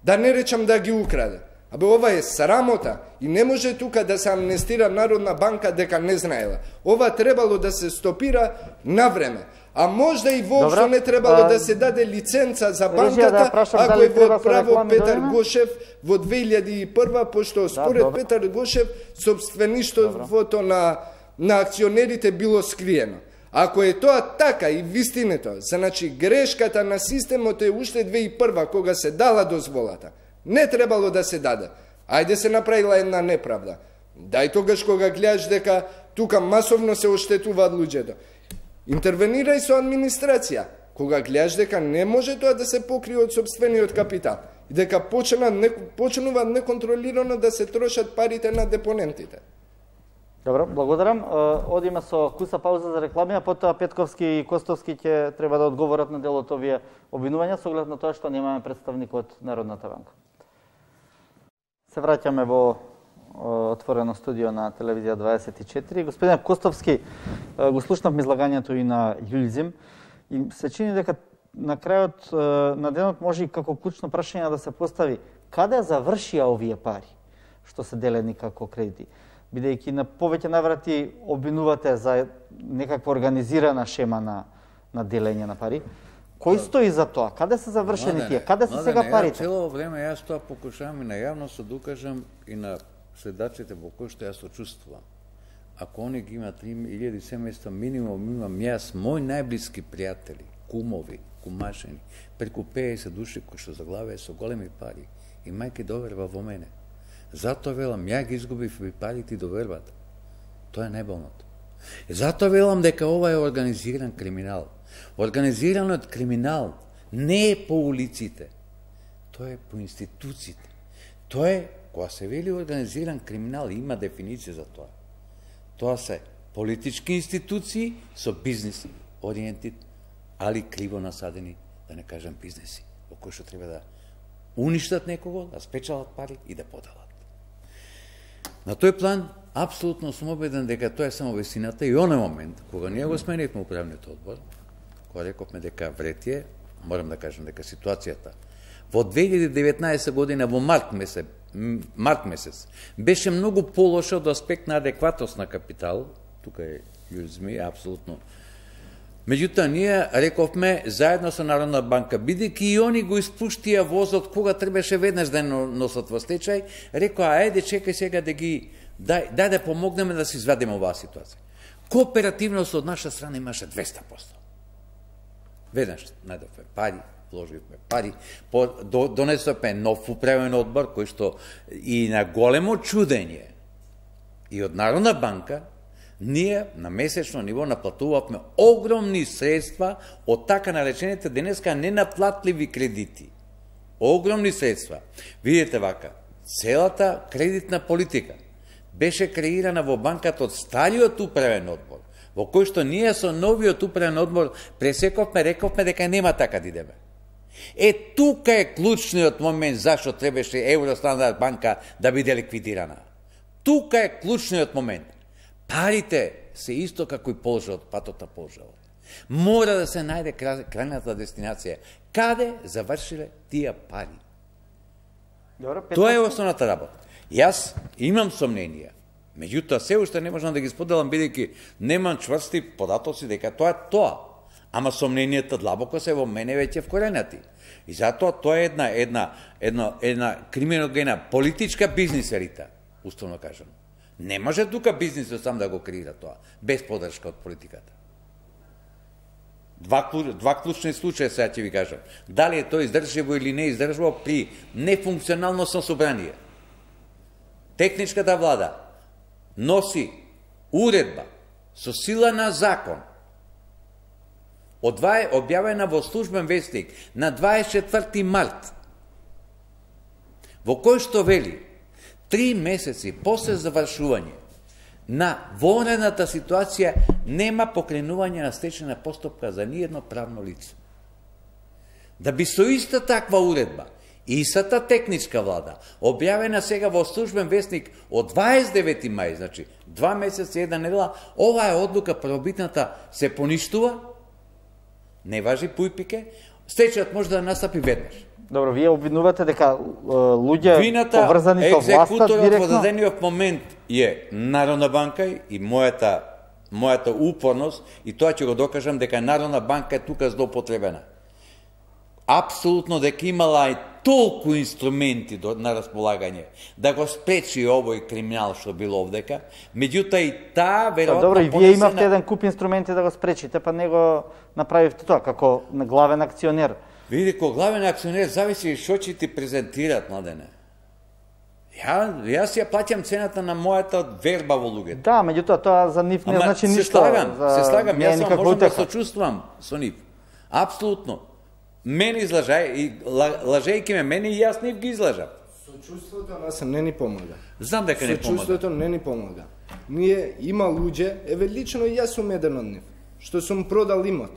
Да не речам да ги украде. Абе, ова е срамота и не може тука да се амнестира Народна банка дека не знаела. Ова требало да се стопира на време. А можда и воопшто не требало а... да се даде лиценца за банката, да ако е во право Петар Гошев во две илјади и прва, пошто според да, Петар Гошев собствеништвото на, на акционерите било скриено. Ако е тоа така и вистинето, значи грешката на системот е уште две илјади и прва, кога се дала дозволата. Не требало да се даде. Ајде се направила една неправда. Дај тогаш кога гледаш дека тука масовно се оштетуваат луѓето. Интервенирај со администрација. Кога гледаш дека не може тоа да се покрие од собствениот капитал. И дека почнуваат неконтролирано да се трошат парите на депонентите. Добро, благодарам. Одиме со куса пауза за реклами, а потоа Петковски и Костовски ќе треба да одговорат на дел од овие обвинувања со оглед на тоа што немаме представник од Народната банка. Се враќаме во отворено студио на телевизија дваесет и четири. Господин Костовски, го слушнавме излагањето и на Јулзим и се чини дека на крајот на денот може и како клучно прашање да се постави каде завршија овие пари што се делени како кредити, бидејќи на повеќе наврати обвинувате за некаква организирана шема на на делење на пари. Кој стои за тоа? Каде се завршени тие? Каде се сега парите? Цело време јас тоа покушавам и на јавност да докажам и на следачите во кои што јас сочувствувам. Ако они ги имат три илјади семејства минимум, имам јас мои најблиски пријатели, кумови, кумашени, преку педесет души кои што заглавија со големи пари и мајки доверба во мене. Затоа велам, ја ги изгубив и парите и довербата. Тоа е најболното. И затоа велам дека ова е организиран криминал. Организираниот криминал не е по улиците, тоа е по институциите. Тоа е, кога се вели организиран криминал, има дефиниција за тоа. Тоа се политички институции со бизнес ориентит, али криво насадени, да не кажам бизнеси, во кои што треба да уништат некого, да спечалат пари и да подалат. На тој план, апсолутно сум убеден дека тоа е само вистината и оној момент, кога ние го сменивме управниот одбор, кога рековме дека вретие, морам да кажам дека ситуацијата во две илјади и деветнаесетта година во март месец март месец, беше многу полоша од аспект на адекватност на капитал, тука е Јузми, апсолутно. Меѓутоа, ние рековме заедно со Народна банка, бидејќи и они го испуштија возот кога требаше веднаш да носат во стечај, рекоа, ајде, чекај сега да ги, дај, дај да помогнеме да се извадиме оваа ситуација. Кооперативност од наша страна имаше двеста проценти. Веднаш најдовме пари, вложивме пари, донесовме нов управен одбор, кој што и на големо чудење и од Народна банка, ние на месечно ниво наплатувавме огромни средства од така наречените денеска ненаплатливи кредити. Огромни средства. Видите вака, целата кредитна политика беше креирана во банката од стариот управен одбор, во кој што ние со новиот управен одбор пресековме, рековме дека нема така да идеме. Е, тука е клучниот момент зашто требаше Евростандард банка да биде ликвидирана. Тука е клучниот момент. Парите се исто како и полжавот, патот на полжавот. Мора да се најде крајната дестинација. Каде завршиле тие пари? Тоа е основната работа. Јас имам сомненија. Меѓутоа, се уште не можам да ги споделам, бидејќи немам чврсти податоци дека тоа е тоа. Ама сомненијата длабоко се во мене веќе вкоренати. И затоа тоа е една, една, една, една криминогена политичка бизнис елита, уставно кажано. Не може тука бизнисот сам да го креира тоа, без подршка од политиката. Два, два клучни случаи сега ќе ви кажам. Дали е тоа издржливо или не издржливо при нефункционално собрание. Техничката влада носи уредба со сила на закон, објавена во службен вестник на дваесет и четврти март, во кој што вели три месеци после завршување на вонредната ситуација нема покренување на стечајна постапка за ниедно правно лице. Да би со иста таква уредба, истата техничка влада, објавена сега во службен вестник од дваесет и девети мај, значи два месеца и една недела, оваа одлука првобитната се поништува, не важи пујпике, стечајот може да настапи веднаш. Добро, вие обвинувате дека луѓе поврзани со власта екзекуторот директно... во дадениот момент е Народна банка и мојата, мојата упорност, и тоа ќе го докажам дека Народна банка е тука злоупотребена. Апсолутно дека имала и толку инструменти до, на располагање да го спречи овој криминал што било овдека, меѓутоа и таа веројатно... Добро, и вие имавте еден куп инструменти да го спречите, па не го направивте тоа, како главен акционер. Види, ко главен акционер зависи што ќе ти презентират, Младене. Ја, јас ја плаќам цената на мојата верба во луѓето. Да, меѓутоа тоа за нив не Ама, значи се ништо. Слагам, за... се слагам, јас сам можам да утеха. сочувствувам со нив. Апсолутно. Мене излажај, и лажејќи ме мене и јас нив ги излажам. Сочувството нас не ни помага. Знам дека не помага. Сочувството не ни помага. Ние има луѓе, еве лично јас сум еден од нив, што сум продал имот.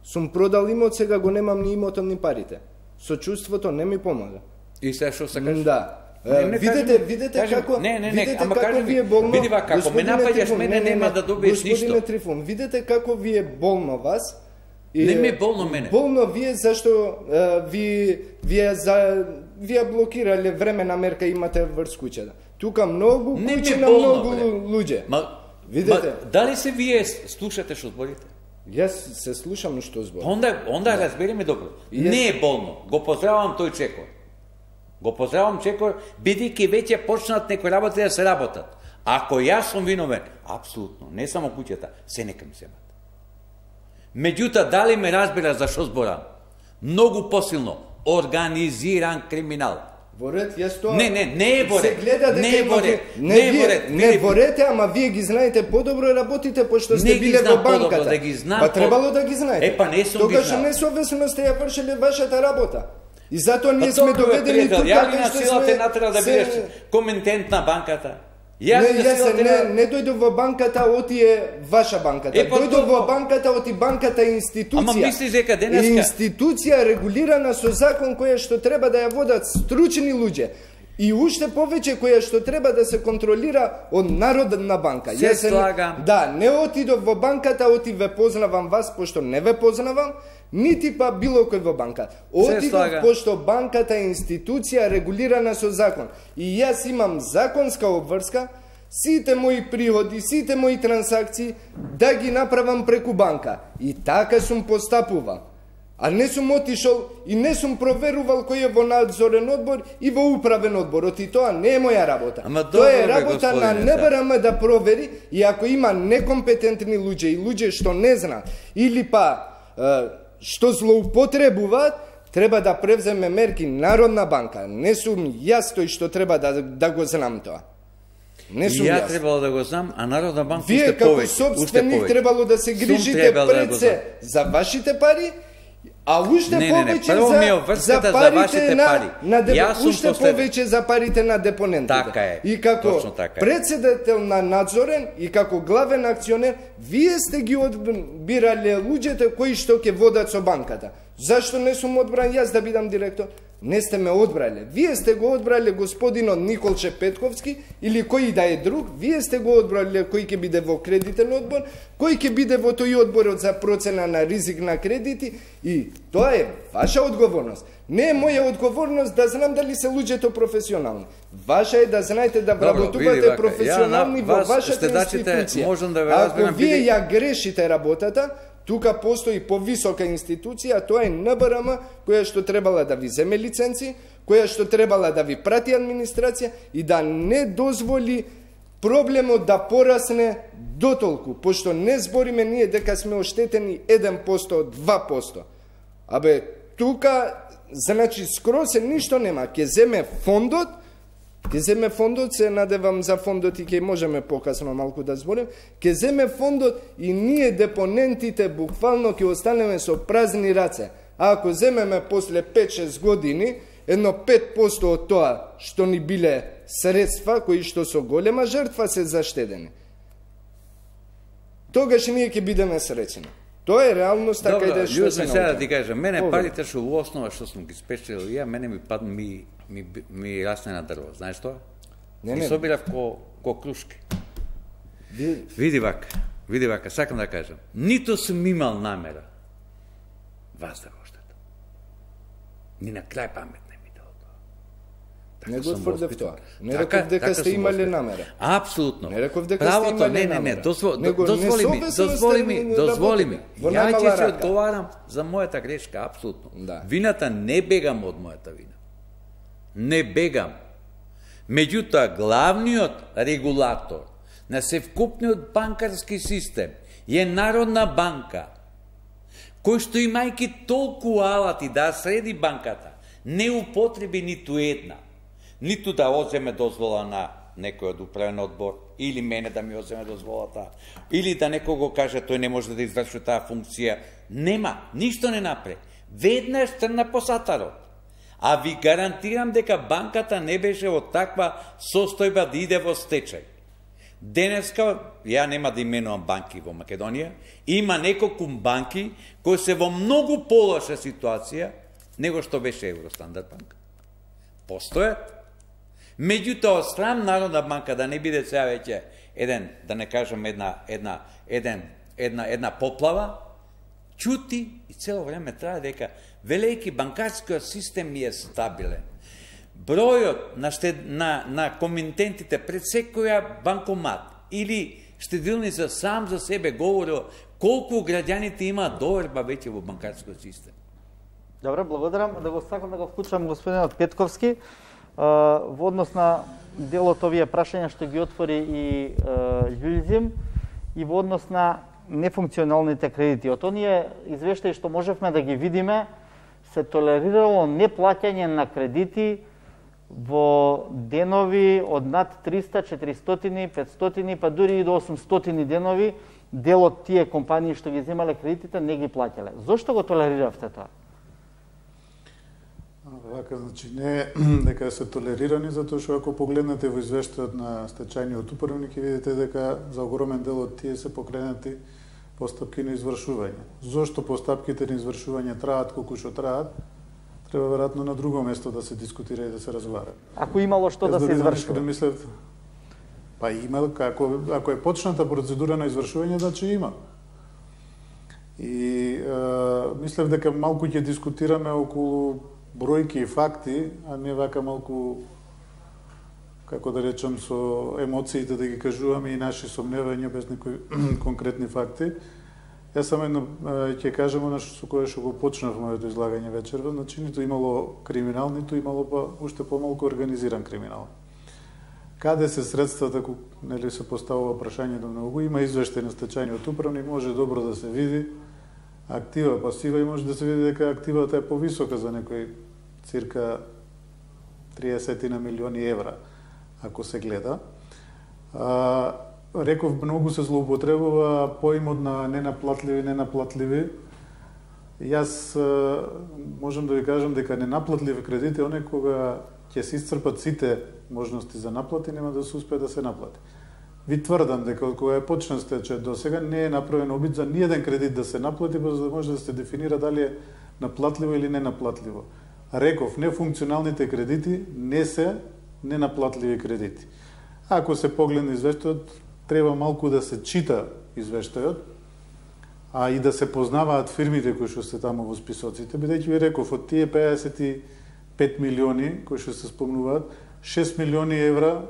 Сум продал имот, сега го немам ни имотот ни парите. Сочувството не ми помага. И сега што сакаш? Да. Не, не, видете, кажем, видете кажем, како не, не, не, видите ама како кажем, ви е болно. види вака, ако ме напаѓаш мене, нема да добиеш ништо. Господине Трифун, видите како ви е болно вас. И, не ми е болно мене. Болно вие зашто а, ви вие за вие блокирале времена мерка имате врз куќата. Тука многу куќи на многу луѓе. Ма, видите? Ма, дали се вие слушате што зборите? Јас се слушам што зборам. Онда, онда да. Разбериме добро. Јас... Не е болно. Го поздравам тој чекор. Го поздравам чекор, бидејќи веќе почнат некои работи да се работат. Ако јас сум виновен, апсолутно, не само куќата, се нека ми земат. Меѓутоа, дали ме разбира за што зборам? Многу посилно. Организиран криминал. Во ред, јас тоа... Не, не, не е во ред. Се гледа дека не е во ред. Не, не е во ред. Не во ред, ама вие ги знаете подобро и работите, пошто сте биле во банката. Да ги знам, па требало да ги знаете. Е, па не сум ги Тогаш знал. несовесно сте ја вршиле вашата работа. И затоа ние па, сме доведени тука, ја ли на што сила те сме... натера да бидеш коментент на банката? Не, јас не, не дојдов во банката, оти е ваша банката. Е, па, дојдов во банката, оти банката е институција. Ама мислиш дека денеска... Институција регулирана со закон која што треба да ја водат стручни луѓе. и уште повеќе која што треба да се контролира од Народна банка. Се слагам. Да, не отидов во банката, оти ве познавам вас, пошто не ве познавам, нити па било кој во банка. Отидов пошто банката е институција регулирана со закон. И јас имам законска обврска, сите мои приходи, сите мои трансакции да ги направам преку банка. И така сум постапувал. А не сум отишол и не сум проверувал кој е во надзорен одбор и во управен одбор. Оти тоа не е моја работа. Ама тоа е добро, работа на Н Б Р М да провери, и ако има некомпетентни луѓе и луѓе што не знаат или па е, што злоупотребуваат, треба да превземе мерки Народна банка. Не сум јас тој што треба да, да го знам тоа. Не сум ја јас. требало да го знам, а Народна банка Вие уште како повеќе. собственик требало да се грижите пред се за вашите пари, а уште не, не, не, повеќе прво ми е за, за за парите вашите на, пари. на деп... Јас сум уште послед... повеќе за парите на депонентите. Така е. И како така е. председател на надзорен и како главен акционер, вие сте ги одбирале луѓето кои што ќе водат со банката. Зашто не сум одбран јас да бидам директор? Не сте ме одбрале. Вие сте го одбрале господинот Николче Петковски или кој да е друг. Вие сте го одбрале кој ќе биде во кредитен одбор, кој ќе биде во тој одборот за процена на ризик на кредити, и тоа е ваша одговорност. Не е моја одговорност да знам дали се луѓето професионални. Ваша е да знаете да вработувате професионални во вашата институција. Можам да ве Ако разберам, вие биде... ја грешите работата, тука постои повисока институција, а тоа е Н Б Р М, која што требала да ви земе лиценци, која што требала да ви прати администрација и да не дозволи проблемот да порасне дотолку, пошто не збориме ние дека сме оштетени еден процент, два процент. Абе, тука, значи, скроз се ништо нема. Ке земе фондот, ке земе фондот, се надевам за фондот и ке можеме покасно малку да зборим, ке земе фондот и ние депонентите буквално ке останеме со празни раце. А ако земеме после пет-шест години, едно пет процент од тоа што ни биле средства, кои што со голема жртва се заштедени, тогаш ние ќе бидеме среќни. Тоа е реалност, така и да што се научи. Сега да ти кажам, мене парите што во основа што сум ги спечелил ја, мене ми пад ми ми ми расне на дрво, знаеш тоа? Не, не. И собирав ко ко крушки. Ви... Види вака, види вака, сакам да кажам, ниту сум имал намера вас да го штетам. Ни на крај памет не ми дало тоа. Не го тврдев тоа. Не реков дека сте имале намера. Апсолутно. Не реков дека правото, сте имале не, не, намера. не, дозволи, Него, дозволи ми, дозволи ми, дозволи ми. Ја ќе се одговарам за мојата грешка, апсолутно. Да. Вината не бегам од мојата вина. Не бегам. Меѓутоа, главниот регулатор на севкупниот банкарски систем е Народна банка, кој што имајќи толку алати да среди банката, не употреби ниту една, ниту да оземе дозвола на некој од управен одбор, или мене да ми оземе дозволата, или да некој го каже тој не може да изврши таа функција. Нема, ништо не напре. Веднаш трна по сатарот. А ви гарантирам дека банката не беше во таква состојба да иде во стечај. Денеска, ја нема да именувам банки во Македонија, има неколку банки кои се во многу полоша ситуација него што беше Евростандард банка. Постојат. Меѓутоа, страм Народна банка да не биде сега веќе еден, да не кажам една, една, еден, една, една поплава, чути и цело време трае дека велики банкарскиот систем ни е стабилен. Бројот на, штед, на, на комитентите пред секоја банкомат или штедилница сам за себе говори колку граѓаните имаат доверба веќе во банкарскиот систем. Добре, благодарам. Да го сакам да го вклучам господинот Петковски во однос на делот овие прашања што ги отвори и Љулјзим и во однос на нефункционалните кредити. Од оние извештаи што можевме да ги видиме, се толерирало неплаќање на кредити во денови од над триста, четиристотини, петстотини, па дури и до осумстотини денови. Дел од тие компании што ги земале кредитите не ги плаќале. Зошто го толериравте тоа? Вака, значи, не дека се толерирани, затоа што ако погледнете во извештајот на стечајниот управник, ќе видите дека за огромен дел од тие се покренати постапки на извршување. Зошто постапките на извршување траат колку што траат? треба веројатно на друго место да се дискутира и да се разговара. Ако имало што да се извршува? Да мислев, па има, ако, ако е почната процедура на извршување, значи има. И е, мислев дека малку ќе дискутираме околу бројки и факти, а не вака малку, како да речам, со емоциите да ги кажуваме и наши сомневања без некои конкретни факти. Јас само едно ќе кажам она со кое што го почнав моето излагање вечерва, значи ниту имало криминал, ниту имало па уште помалку организиран криминал. Каде се средствата, нели се поставува прашање до многу, има извештај на стечајниот управник, може добро да се види актива, пасива и може да се види дека активата е повисока за некој цирка триесет на милиони евра, ако се гледа. А, реков, многу се злоупотребува поимот на ненаплатливи, ненаплатливи. Јас а, можам да ви кажам дека ненаплатливи кредити, оне кога ќе се исцрпат сите можности за наплати, нема да се успее да се наплати. Ви тврдам дека од кога е почнал стечај до сега не е направен обид за ниеден кредит да се наплати, за да може да се дефинира дали е наплатливо или ненаплатливо. Реков, нефункционалните кредити не се ненаплатливи кредити. Ако се погледне извештајот, треба малку да се чита извештајот, а и да се познаваат фирмите кои што се таму во списоците, бидејќи ви реков, од тие пеесет и пет милиони кои што се спомнуваат, шест милиони евра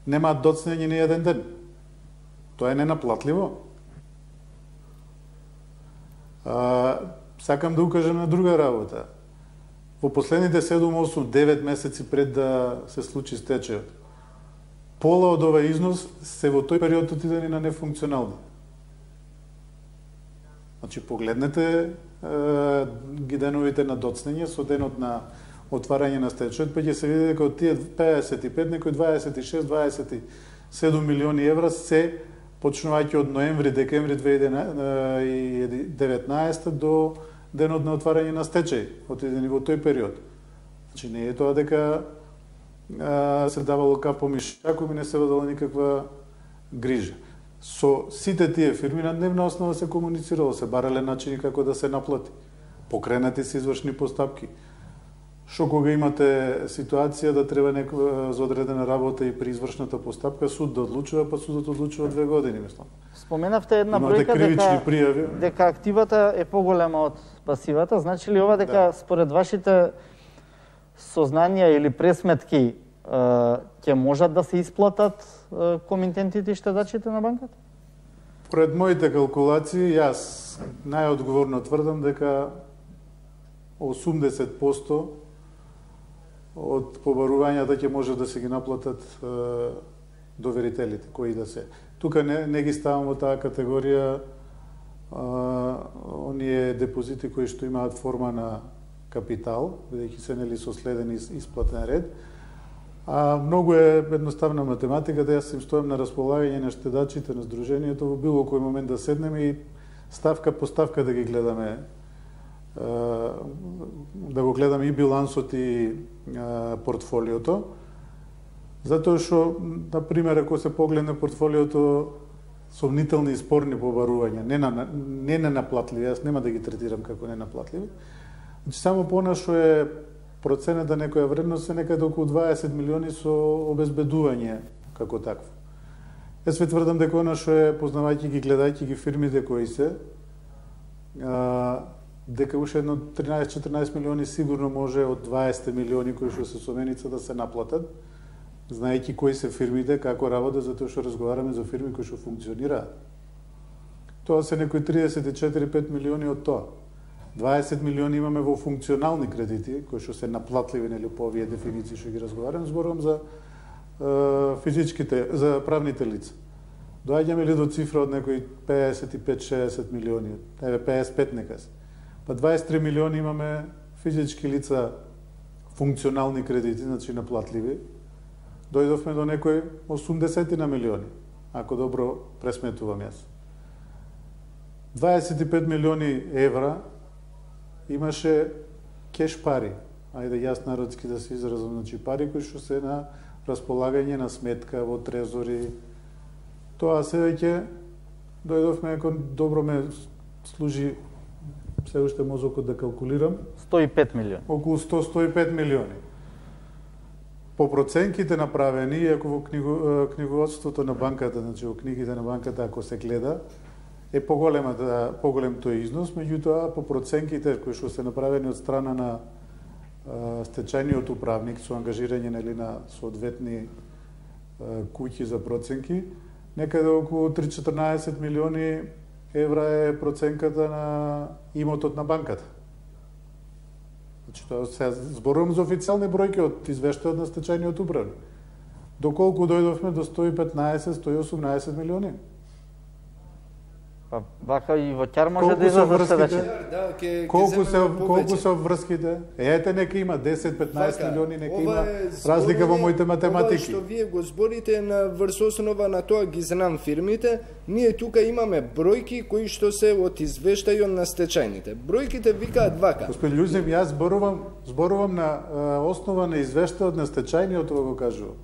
немаат доцнење ни еден ден. Тоа е ненаплатливо. А, сакам да укажам на друга работа. Во последните седум, осум, девет месеци пред да се случи стечајот, пола од овој износ се во тој период отидени на нефункционални. Значи, погледнете е, ги деновите на доцнење со денот на отварање на стечајот, па ќе се види дека од тие пеесет и пет, некои дваесет и шест дваесет и седум милиони евра се почнувајќи од ноември, декември две илјади и деветнаесета до денот на отварање на стечај, отидени во тој период. Значи, не е тоа дека а, се давало капо мишаком и не се водела никаква грижа. Со сите тие фирми на дневна основа се комуницирало, се барале начини како да се наплати. Покренати се извршни постапки. Што кога имате ситуација да треба некоја за одредена работа и при извршната постапка суд да одлучува, па судот одлучува две години, мислам. Споменавте една бројка дека, пријави. дека активата е поголема од пасивата. Значи ли ова дека да. Според вашите сознанија или пресметки ќе можат да се исплатат комитентите и штедачите на банката? Пред моите калкулации, јас најодговорно тврдам дека осумдесет проценти од побарувањата ќе може да се ги наплатат е, доверителите, кои да се. Тука не, не ги ставам во таа категорија е, оние депозити кои што имаат форма на капитал, бидејќи се нели со следен исплатен ред. А многу е едноставна математика, да јас им стојам на располагање на штедачите на здруженијето во било кој момент да седнеме и ставка по ставка да ги гледаме, да го гледаме и билансот и портфолиото, затоа што, например, ако се погледне портфолиото сомнителни и спорни побарувања, не на не ненаплатливи, јас нема да ги третирам како ненаплатливи, значи само по она што е проценета некоја вредност е некаде околу дваесет милиони со обезбедување како такво. Јас ви тврдам дека она што е, познавајќи ги, гледајќи ги фирмите кои се, а, дека уште едно тринаесет-четирнаесет милиони сигурно може од дваесет милиони кои што се со меница да се наплатат, знаејќи кои се фирмите, како работат, затоа што разговараме за фирми кои што функционираат. Тоа се некои триесет и четири до пет милиони од тоа. дваесет милиони имаме во функционални кредити, кои што се наплатливи, нели, по овие дефиниции што ги разговарам, зборувам за е, физичките, за правните лица. Доаѓаме ли до цифра од некои пеесет и пет до шеесет милиони, еве пеесет и пет нека се. Па дваесет и три милиони имаме физички лица функционални кредити, значи наплатливи. Дојдовме до некои осумдесет на милиони, ако добро пресметувам јас. дваесет и пет милиони евра имаше кеш пари, ајде јас народски да се изразам, значи пари кои што се на располагање на сметка во трезори. Тоа се веќе дојдовме, ако добро ме служи се уште мозокот да калкулирам, сто и пет милиони. околу сто до сто и пет милиони. По проценките направени, иако во книгу, книговодството на банката, значи во книгите на банката, ако се гледа, е поголема, да, поголем тој износ, меѓутоа по проценките кои што се направени од страна на а, стечајниот управник со ангажирање нели на соодветни а, куќи за проценки, некаде околу три до четрнаесет милиони евра е проценката на имотот на банката. Значи, тоа се зборувам за официјални бројки од извештајот на стечајниот управник. Доколку дојдовме до сто и петнаесет до сто и осумнаесет милиони. Па вака и во ќар може Колку да се излезе врските? следеće. Да, ке, Колку ке се земеме колку повеќе. се врските? Ете нека има десет до петнаесет Вака, милиони, нека ова има е разлика во збороње- моите математики. Ова што вие го зборите на врз основа на тоа ги знам фирмите, ние тука имаме бројки кои што се од извештајот на стечајните. Бројките викаат вака. Господин Љузев, јас зборувам зборувам на а, основа на извештајот на стечајниот, ова го кажувам.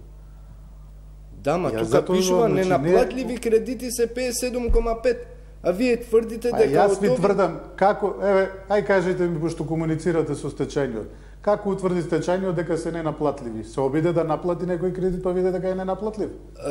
Да, ма Јас тука затоа пишува значи, ненаплатливи кредити се петдесет и седум кома пет. А вие тврдите А дека јас од ви овие- тврдам како, еве, ај кажете ми пошто комуницирате со стечајниот. Како утврди стечајниот дека се ненаплатливи? Се обиде да наплати некој кредит, па виде дека е ненаплатлив. А,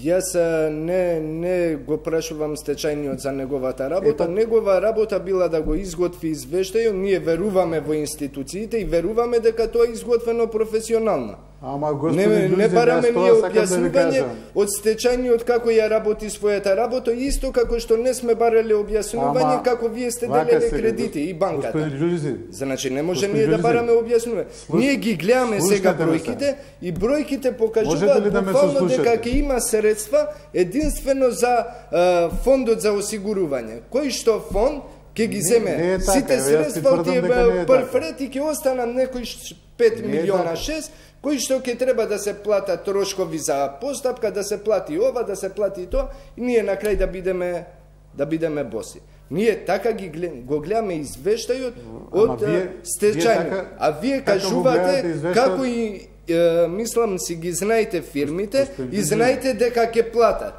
јас а, не не го прашувам стечајниот за неговата работа. Епа- Негова работа била да го изготви извештајот. Ние веруваме во институциите и веруваме дека тоа е изготвено професионално. Ама Не, господин не Љузев, бараме јас ние тоа сакам да ви објаснување кажам. од стечајниот како ја работи својата работа, исто како што не сме барале објаснување Ама, како вие сте вака делеле сега, кредити и банката. Господин Љузев, Значи не може Господин ние да Љузев, бараме објаснување. слуш- Ние ги гледаме сега слушнете ме бројките и бројките Можете покажуваат ли да ме буквално сослушате? дека ќе има средства единствено за а, фондот за осигурување. Кој што фонд ќе ги Не, земе не е така, сите еве, јас ти средства од тврдам тие дека не е така. прфрет и ќе останат некои ш- пет Не е милиона така. шест кои што ќе треба да се платат трошкови за постапка, да се плати ова, да се плати тоа и ние на крај да бидеме да бидеме боси. Ние така ги глед, го гледаме извештајот Ама од вие- стечајно. вие така- А вие така го гледате кажувате извештајот? како и е, мислам си ги знаете фирмите Господин и Ѓурѓев. знаете дека ќе платат.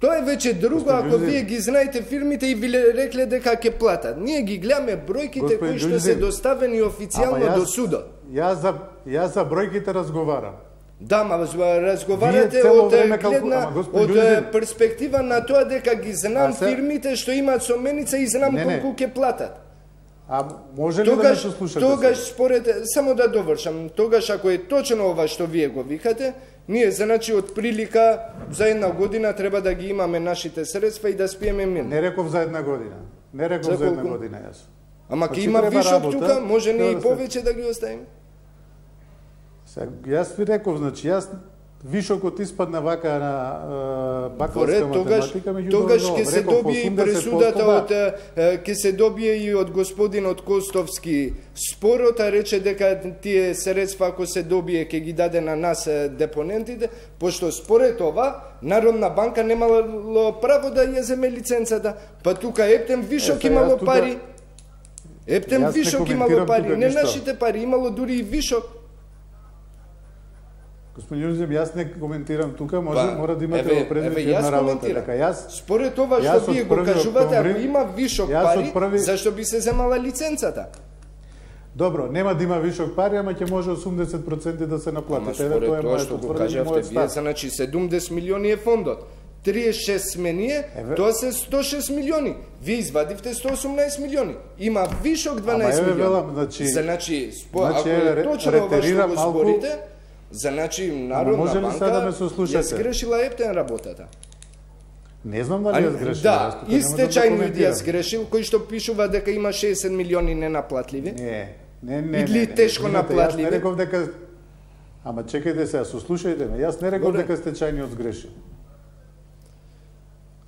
Тоа е веќе друго Господин ако Ѓурѓев. вие ги знаете фирмите и ви рекле дека ќе платат. Ние ги гледаме бројките Господин кои што се Ѓурѓев. доставени официјално Ама до судот. Јас за јас за бројките разговарам. Да, ма разговарате Вие цело од време е, калку- гледна Ама, господин од е, Ѓурѓев. перспектива на тоа дека ги знам А се- фирмите што имаат соменица и знам Не, не. колку ќе платат. А може ли да ме Тогаш, сослушате? тогаш сега? според, само да довршам, тогаш ако е точно ова што вие го викате, ние значи од прилика за една година треба да ги имаме нашите средства и да спиеме мирно. Не реков за една година. Не реков За за, една колку? година јас. Ама Значи, ќе има треба вишок работа, тука, може треба не и да се- повеќе да ги оставиме. Сега, јас ви реков, значи јас вишокот испадна вака на е, бакалавска Поред, тогаш, математика, меѓутоа тогаш но, ќе се реков, добие и осумдесет пресудата проценти од е, ќе се добие и од господинот Костовски спорот, а рече дека тие средства ако се добие ќе ги даде на нас е, депонентите, пошто според ова Народна банка немало право да ја земе лиценцата, па тука Ептен вишок Е, сега имало јас тука- пари. Ептен Јас не вишок имало коментирам пари, тука не ништо. нашите пари, имало дури и вишок. Господин Ѓурѓев, јас не коментирам тука, може Па, мора да имате еве- во предвид еве, јас една работа. коментирам. Дека јас Според ова Јас што од вие го први кажувате, ако октомври- има вишок јас пари, од први- зашто би се земала лиценцата? Добро, нема да има вишок пари, ама ќе може осумдесет проценти да се Ама наплатат. Еве според тоа е тоа што моето го тврдење, кажавте мојот вие, став. значи седумдесет милиони е фондот. триесет и шест сменije, Еве. тоа се сто и шест милиони. Вие извадивте сто и осумнаесет милиони. Има вишок дванаесет еве милиони. велам, значи- значи, спо, значи, ако еве, е точно ова што ретерирам го малку. зборите, значи Народна може ли сега да ме банка сослушате? ја сгрешила Ептен работата. Не знам дали ја сгрешил. Да, јас тука и нема да стечајниот ја коментирам. сгрешил, кој што пишува дека има шеесет милиони ненаплатливи. Не, не, не. Или не, не, тешко извинете, наплатливи. Јас не реков дека Ама чекајте сега, сослушајте ме. Јас не реков Добре. дека стечајниот сгрешил.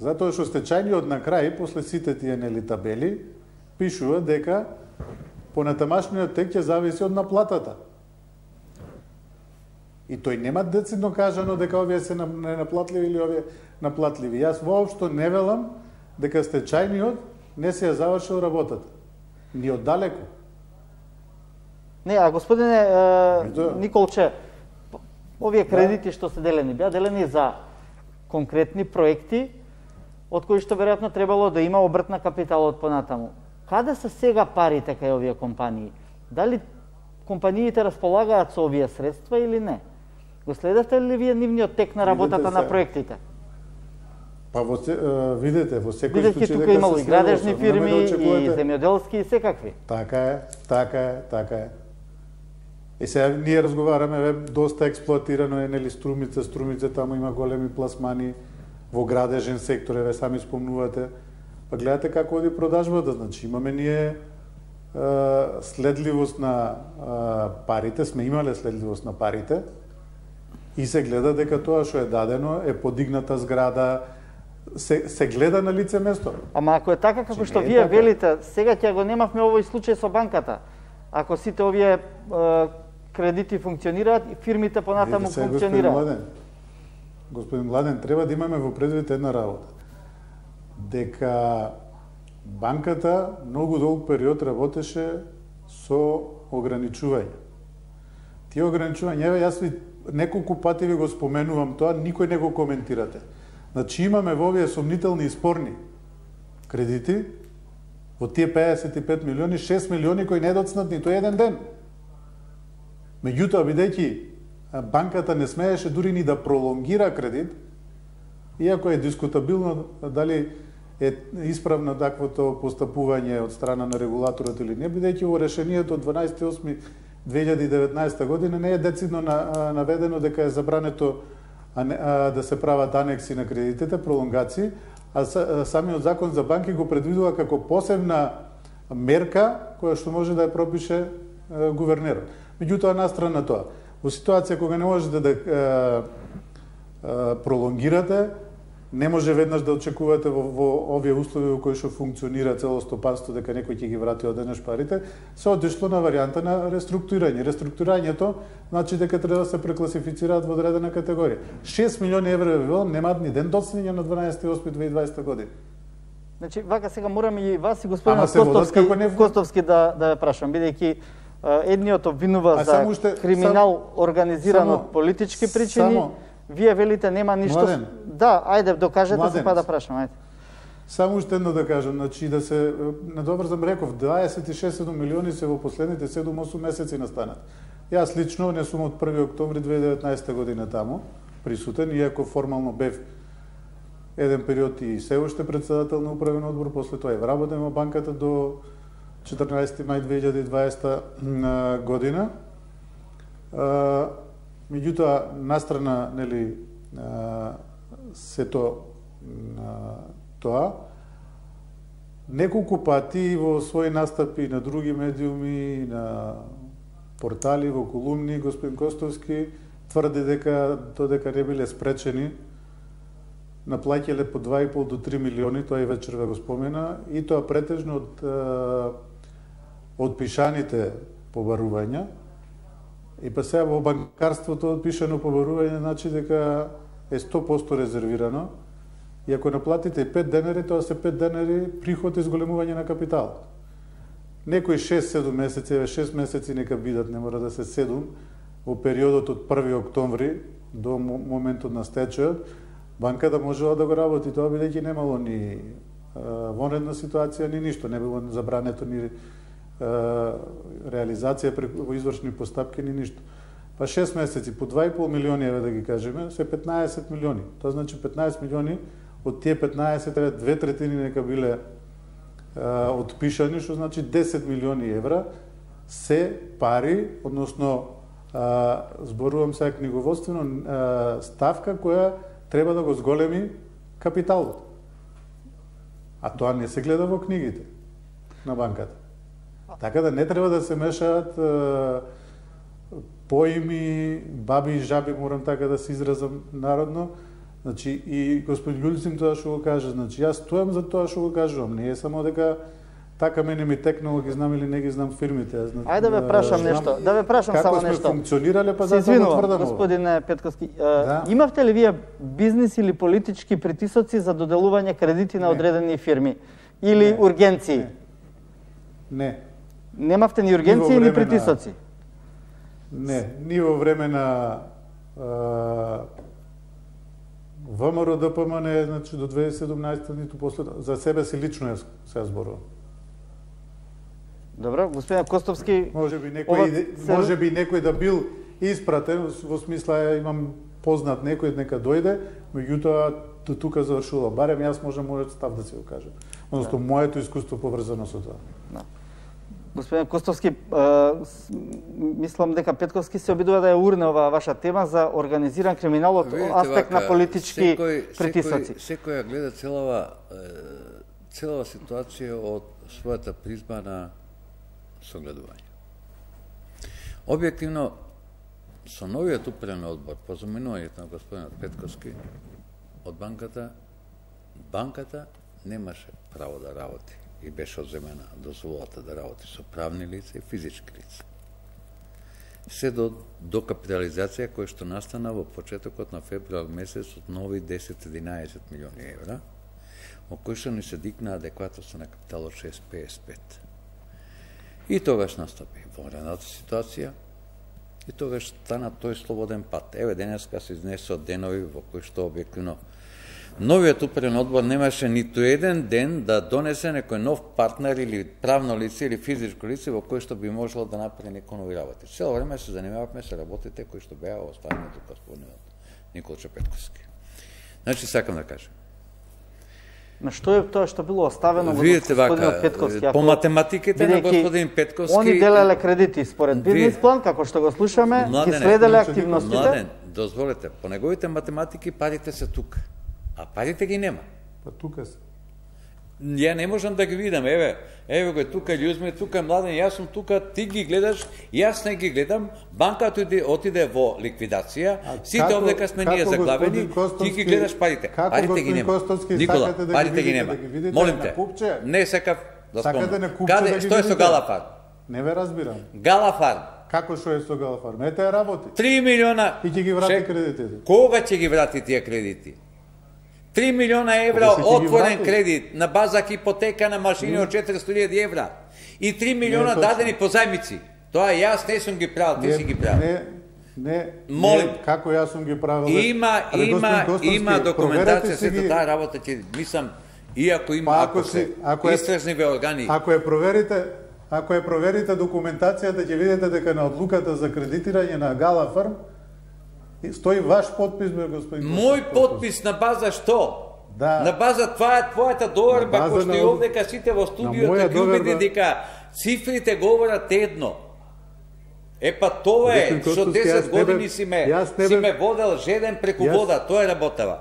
Затоа што стечајниот на крај, после сите тие нели табели, пишува дека понатамашниот тек ќе зависи од наплатата. И тој нема децидно кажано дека овие се ненаплатливи или овие наплатливи. Јас воопшто не велам дека стечајниот не се ја завршил работата. Ни оддалеку. Не, а господине е, Да. Николче, овие кредити што се делени, беа делени за конкретни проекти, од кои што веројатно требало да има обрт на капиталот понатаму. каде се сега парите кај овие компании? Дали компаниите располагаат со овие средства или не? Го следевте ли вие нивниот тек на работата на проектите? Па во се, видете, во секој Бидејќи случај тука имало и градежни фирми, да очекувате... и земјоделски и секакви. Така е, така е, така е. И сега ние разговараме, ве, доста експлоатирано е, нели, Струмица, Струмица, таму има големи пласмани во градежен сектор, ве сами спомнувате. Па гледате како оди продажбата, значи имаме ние е, следливост на е, парите, сме имале следливост на парите и се гледа дека тоа што е дадено е подигната зграда, се, се гледа на лице место. Ама ако е така како што вие така велите, сега ќе го немавме овој случај со банката. Ако сите овие е, кредити функционираат и фирмите понатаму функционираат. Господин Младен, господин Младен, треба да имаме во предвид една работа. Дека банката многу долг период работеше со ограничување. Тие ограничувања, еве јас ви неколку пати ви го споменувам тоа, никој не го коментирате. Значи имаме во овие сомнителни и спорни кредити, во тие педесет и пет милиони, шест милиони кои не доцнат ниту еден ден. Меѓутоа, бидејќи банката не смееше дури ни да пролонгира кредит, иако е дискутабилно дали е исправно таквото постапување од страна на регулаторот или не, бидејќи во решението од дванаесети осми две илјади и деветнаесета година не е децидно наведено дека е забрането да се прават анекси на кредитите, пролонгации, а самиот закон за банки го предвидува како посебна мерка која што може да ја пропише гувернерот. Меѓутоа, настрана тоа, во ситуација кога не можете да е, е, пролонгирате, не може веднаш да очекувате во, во овие услови во кои што функционира цело стопанство дека некој ќе ги врати одеднаш парите, се отишло на варијанта на реструктурирање. Реструктурирањето значи дека треба да се прекласифицираат во одредена категорија. шест милиони евра велам немаат ни ден доцнење на дванаесети осми две илјади и дваесета година. Значи, вака сега морам и вас и господин Костовски, не... Костовски да да прашам, бидејќи едниот обвинува а за уште, криминал сам, организиран само, од политички причини. Само, вие велите нема ништо. Младен, да, ајде докажете младен, се па да прашам, ајде. Само уште едно да кажам, значи да се надобрзам реков, дваесет и шест милиони се во последните седум-осум месеци настанат. Јас лично не сум од први октомври две илјади и деветнаесета година таму присутен, иако формално бев еден период и се уште председател на управен одбор, после тоа и вработен во банката до четрнаесети мај две илјади и дваесета година. Меѓутоа, настрана, нели, сето тоа, неколку пати во своји настапи на други медиуми, на портали, во колумни, господин Костовски тврди дека додека не биле спречени, наплаќале по два и пол до три милиони, тоа и вечер ве го спомена, и тоа претежно од од пишаните побарувања. И па сега во банкарството пишано побарување значи дека е сто проценти резервирано. И ако наплатите пет денари, тоа се пет денари приход и зголемување на капитал. Некои шест-седум месеци, еве шест месеци нека бидат, не мора да се седум, во периодот од први октомври до моментот на стечајот, банката можела да го работи тоа, бидејќи немало ни вонредна ситуација, ни ништо, не било забрането ни реализација во извршни постапки, ни ништо. Па шест месеци, по два и пол милиони, еве да ги кажеме, се петнаесет милиони. Тоа значи петнаесет милиони, од тие петнаесет, две третини нека биле а, отпишани, што значи десет милиони евра, се пари, односно, а, зборувам сега книговодствено, а, ставка која треба да го зголеми капиталот. А тоа не се гледа во книгите на банката. Така да не треба да се мешаат е, поими, баби и жаби, морам така да се изразам народно. Значи, и господин Љулцин тоа што го кажа, значи, јас стојам за тоа што го кажувам. Не е само дека така мене ми текнало, ги знам или не ги знам фирмите. Јас, значи, ајде да ве прашам знам, нешто, да ве прашам само нешто. Како сме функционирале, па се да го тврдам. Господин Петкоски, да. Имавте ли вие бизнис или политички притисоци за доделување кредити на не. Одредени фирми? Или не. Ургенции? Не. Не. Немавте ни ургенции или притисоци? На... Не, ни во време на ВМРО Д П М Н, значи до две илјади и седумнаесета, ниту после, за себе си лично јас се зборувам. Добро, господин Костовски, Може би некој ова иде- се- може би некој да бил испратен во смисла ја имам познат некој нека дојде, меѓутоа до тука завршува. Барем јас можам мојот став да се го кажам. Односно моето искуство поврзано со тоа. Да. Господин Костовски, е, с- мислам дека Петковски се обидува да ја урне оваа ваша тема за организиран криминал од Видите, аспект на вака, политички секој- притисоци. Секој, секој ја гледа целава е, целава ситуација од својата призма на согледување. Објективно, со новиот управен одбор, по заминувањето на господинот Петковски од банката, банката немаше право да работи и беше одземена дозволата да работи со правни лица и физички лица. Се до, до капитализација која што настана во почетокот на февруар месец од нови десет до единаесет милиони евра, во кој што ни се дикна адекватност на капитал од шест целу педесет и пет. И тогаш настапи вонредната ситуација, и тогаш стана тој слободен пат. Еве денеска се изнесоа денови во кои што објективно новиот управен одбор немаше ниту еден ден да донесе некој нов партнер или правно лице или физичко лице во кој што би можело да направи некој нови работи. Цело време се занимававме со работите кои што беа оставени од господинот Николче Петковски. Значи сакам да кажам. На што е тоа што било оставено во Видите господинот вака, Петковски? по Ако- математиките на бидејќи господин Петковски... Они делеле кредити според бизнис план, како што го слушаме, ги Младене, следеле значи, активностите. Младен, дозволете, по неговите математики парите се тука, а парите ги нема. Па тука се. Ја не можам да ги видам, еве, еве го е тука Љузме, тука е Младен, јас сум тука, ти ги гледаш, јас не ги гледам, банката отиде, отиде во ликвидација, сите како- овдека сме ние како заглавени, господин ти ги Костовски- гледаш парите, како парите ги господин нема. Костовски Никола, сакате да ги парите ги видите, нема. да ги видите Молим на те, купче? не сакав да Сакате спомнам. на купче Каде, да ги што е со видите? Галафарм? Не ве разбирам. Галафарм, Како што е со Галафарм? Ете ја работи. три милиона... И ќе ги врати Чек- кредитите. Кога ќе ги врати тие кредити? три милиона евра Кога ќе ги отворен врати? кредит на база хипотека на машини од четиристотини илјади евра и три милиона точно. дадени по зајмици. Тоа јас не сум ги правил, ти си ги правил. Не, не, Молим. не, како јас сум ги правил. Има, Абе, има, господин Костовски, има документација, проверете си сета ги- таа работа ќе, мислам, иако има, Па, ако, ако се си- ако е- истражниве органи, Ако ја проверите, ако ја проверите документацијата, ќе видите дека на одлуката за кредитирање на Галафарм стои ваш подпис, бе, господин мој Костовски. подпис на база што? Да. На база това е твојата доверба, На база кој што на и од- овдека сите во студиото моја ги убеди доверба- дека цифрите говорат едно. Е па тоа е, Господин што Костовски, десет јас не бев- години си ме, јас не си бев- ме водел жеден преку Јас- вода, тоа е работава.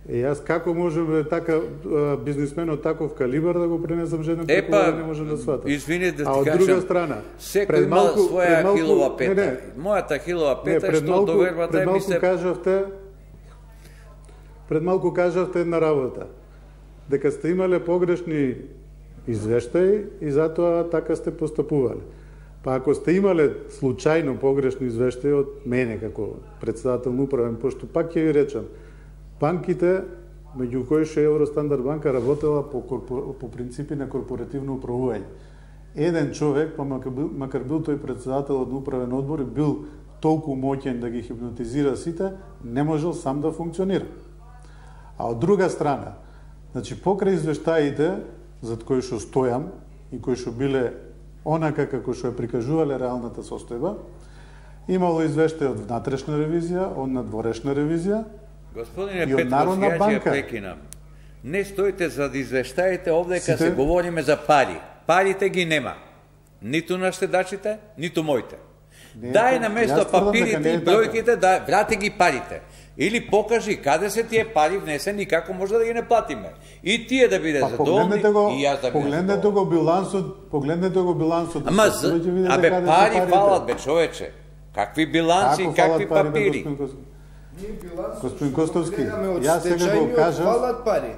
Е, јас како можам бе, така а, бизнисмен од таков калибар да го пренесам жеден Е преку па, вода, не можам да сватам. извини да ти А од кажам, друга страна, секој пред има малку- своја пред малку- хилова не, пета. не, Мојата хилова Не, пета е пред што малку, довербата пред е ми малку се... кажавте пред малку кажавте една работа, дека сте имале погрешни извештаи и затоа така сте постапувале. Па ако сте имале случајно погрешни извештаи од мене како председател на управен, пошто пак ќе ви речам, банките, меѓу кои што Евростандард банка работела по, корпор... по принципи на корпоративно управување. Еден човек, па макар бил, макар бил тој председател од управен одбор и бил толку моќен да ги хипнотизира сите, не можел сам да функционира. А од друга страна, значи покрај извештаите зад кои што стојам и кои што биле онака како што ја прикажувале реалната состојба, имало извештај од внатрешна ревизија, од надворешна ревизија. Господине И од Петковски, Народна ја ќе ја банка. прекинам. Не стоите за да извештаите овдека Сите- се говориме за пари. Парите ги нема. Ниту на штедачите, ниту моите. Не е Дај така. на место Јас тврдам дека папирите не е и бројките, да врати ги парите. Или покажи каде се тие пари внесени и како може да ги не платиме. И тие да биде Па задоволни, погледнете го, и јас да бидам погледнете задоволен. го билансот, погледнете го билансот. Ама, Сега за... ќе видите абе, каде се пари парите. фалат, бе, човече. Какви биланси, Како какви фалат пари, бе, папири. господин Костовски? Ние билансот Господин што го Костовски, гледаме од јас сега го стечајниот кажав- фалат пари.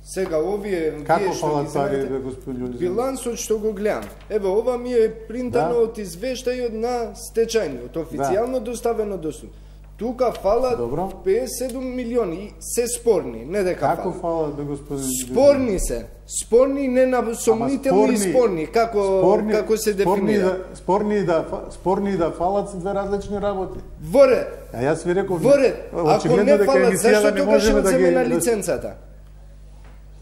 Сега овие Како вие што фалат ги пари, земете, бе, господин Љулизан? билансот што го гледам. Еве ова ми е принтано Да. од извештајот на стечајниот, официјално доставено до суд. Тука фалат Добро. педесет и седум милиони и се спорни, не дека Како фалат. фалат, бе, господин Љулизан? Спорни се. Спорни не на сомнителни и спорни, како спорни- како се спорни дефинира. да, спорни и да фа- спорни и да фалат се две различни работи. Во ред. А јас ви реков, Во ред. Ако очигледно не дека фалат, емисијата зашто не тогаш можеме ја да ги- одземена да- лиценцата?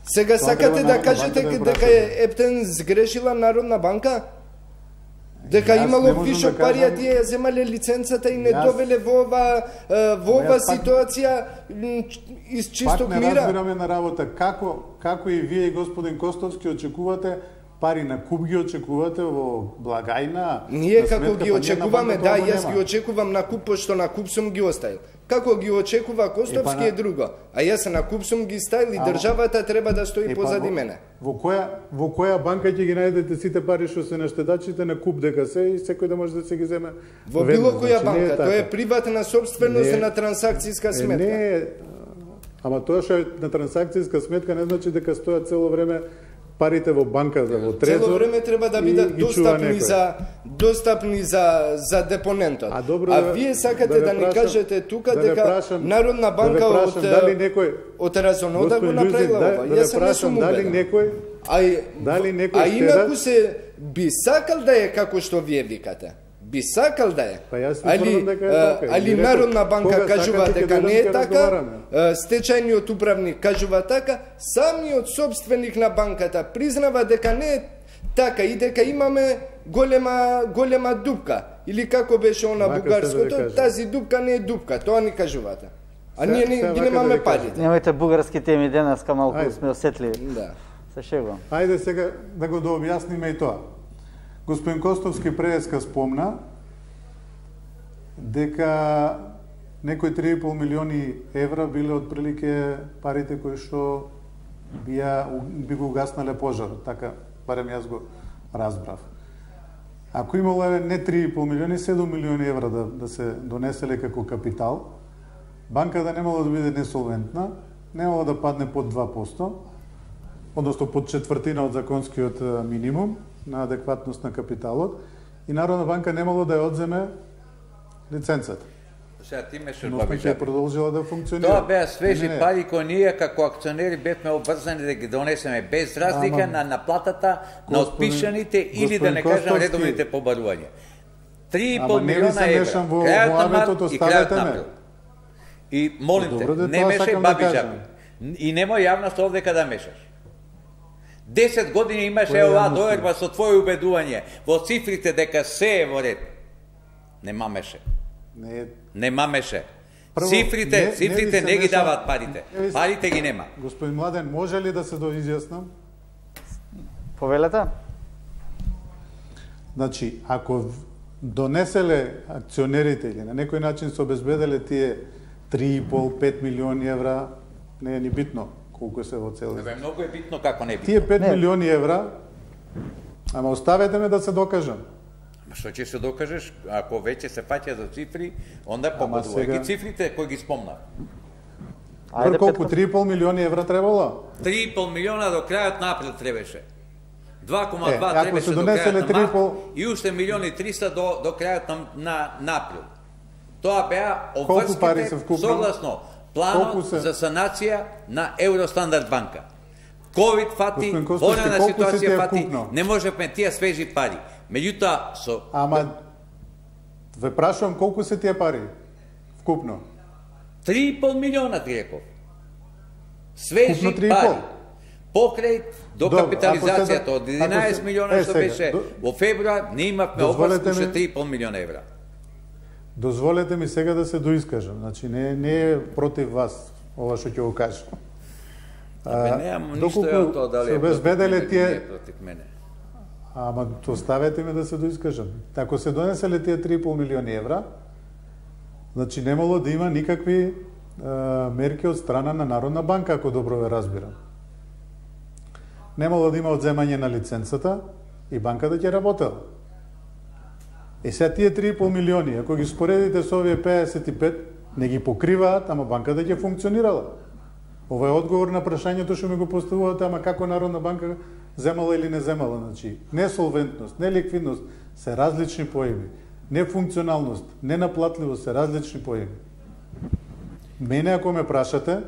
Сега Тоа сакате треба да Народна кажете банка да дека е Ептен сгрешила Народна банка? Дека Јас не имало можам вишок да пари, а кажам- тие ја земале лиценцата и не Јас- довеле во ова е, во ова Јас пак- ситуација м, из чисток Пак не мира. разбираме на работа како како и вие и господин Костовски очекувате пари на куп ги очекувате во благајна. Ние на како сметка, ги па очекуваме, Народна да, банка јас тоа ги го очекувам на куп, пошто на куп сум ги оставил. Како ги очекува Костовски Е, е па на- друго. А јас на куп сум ги ставил и Ама- државата треба да стои Е, па позади во- мене. Во која во која банка ќе ги најдете сите пари што се на штедачите на куп дека се и секој да може да се ги земе? Во веднаш, било која значи, не банка, тоа е така. приватна собственост Не е- на трансакцијска Е, сметка. Не, е, ама тоа што е на трансакцијска сметка не значи дека стојат цело време парите во банката, во трезор. Цело време треба да и бидат ги чува достапни некој. за достапни за за депонентот. А добро а да- вие сакате да да, ве ни прашам- кажете тука да ве дека прашам- Народна да ве банка прашам, од дали некој- од разонода го Господин Љузин, направила да, ова. да ве Јас не прашам сум дали убеден. некој А, и- дали некој а штедат- инаку се би сакал да е како што вие викате. Би сакал да е. Па јас ви али тврдам дека е а, така. али И реков, Народна банка кога кажува сакате, дека ќе не е дојдам, ќе така, разговараме. а, стечајниот управник кажува така, самиот собственик на банката признава дека не е така и дека имаме голема голема дупка или како беше она Вака бугарското, се да ви кажам. тази дупка не е дупка, тоа ни кажувате. А Се- ние се не, ги вака да немаме ви кажам. парите. Немајте бугарски теми денеска, малку Ајде. сме осетливи. Да. Се шегувам. Ајде сега да го дообјасниме и тоа. Господин Костовски преска спомна дека некои три и пол милиони евра биле отприлике парите кои што бија би го угаснале пожарот, така барем јас го разбрав. Ако имало не три и пол милиони, седум милиони евра да, да се донеселе како капитал, банката немало да биде несолвентна, немало да падне под два проценти, односно под четвртина од законскиот е, минимум на адекватност на капиталот, и Народна банка немало да ја одземе лиценцата. Сега ти мешаш Но баби ќе жаби. продолжила да функционира. Тоа беа свежи Не, не. пари кои ние како акционери бевме обврзани да ги донесеме без разлика Ама, на наплатата на господин- отпишаните или да господин не кажам Костовски, редовните побарувања. три и пол Ама не ви милиона се евра. мешам во- Крајот во на март аветот, и крајот оставете на ме. април. И молим те, Добро, да не тоа мешај сакам да баби кажам. жаби. И немој јавност овдека да мешаш. Десет години имаш Која ева јавност? доерба со твоје убедување во цифрите дека се е во ред. Не мамеше. Не е. Не мамеше. Прво, цифрите, не- не цифрите ви се не ги меша- даваат парите. Не ви се- Парите ги нема. Господин Младен, може ли да се доизјаснам? Повелете? Значи, ако в- донеселе акционерите или на некој начин се обезбеделе тие три и пол до пет милиони евра, не е ни битно колку се во цел. Бе, многу е битно како не е битно. Тие пет Не. милиони евра, ама оставете ме да се докажам. Ма што ќе се докажеш, ако веќе се фаќа за цифри, онда погодува сега- ги цифрите кои ги спомнав. Пр колку Петко. три и пол милиони евра требало? три и пол милиона до крајот на април требаше. два кома Е, два ако требаше се до донеселе крајот три на и март пол- и уште милиони и триста до, до крајот на, на, на април. Тоа беа Колку пари се обврските вкупно? согласно Колку планот се? за санација на Евростандард банка. Ковид фати, Господин Костовски, војнена колку се ти е ситуација фати, вкупно? не можевме тие свежи пари. Меѓутоа, со Ама ве прашувам колку се тие пари вкупно? три и пол милиона ти реков. Свежи Вкупно три и пол? пари. Покрај до Добро, капитализацијата ако се- од единаесет ако се- милиона е, што сега, беше до- во февруар, не имавме Дозволете обврска уште ми- три и пол милиона евра. Дозволете ми сега да се доискажам. Значи не не е против вас ова што ќе го кажам. Абе, немам ништо доколку од тоа дали се е против обезбеделе мене, тие- не е против мене. Ама оставете ме да се доискажам. Ако се донеселе тие три и пол милиони евра, значи немало да има никакви е, мерки од страна на Народна банка, ако добро ве разбирам. Немало да има одземање на лиценцата и банката ќе работела. И сега тие три и пол милиони, ако ги споредите со овие педесет и пет, не ги покриваат, ама банката ќе функционирала. Ова е одговор на прашањето што ми го поставувате, ама како Народна банка земала или не земала. Значи, несолвентност, неликвидност се различни поими. Нефункционалност, ненаплатливост се различни поими. Мене, ако ме прашате,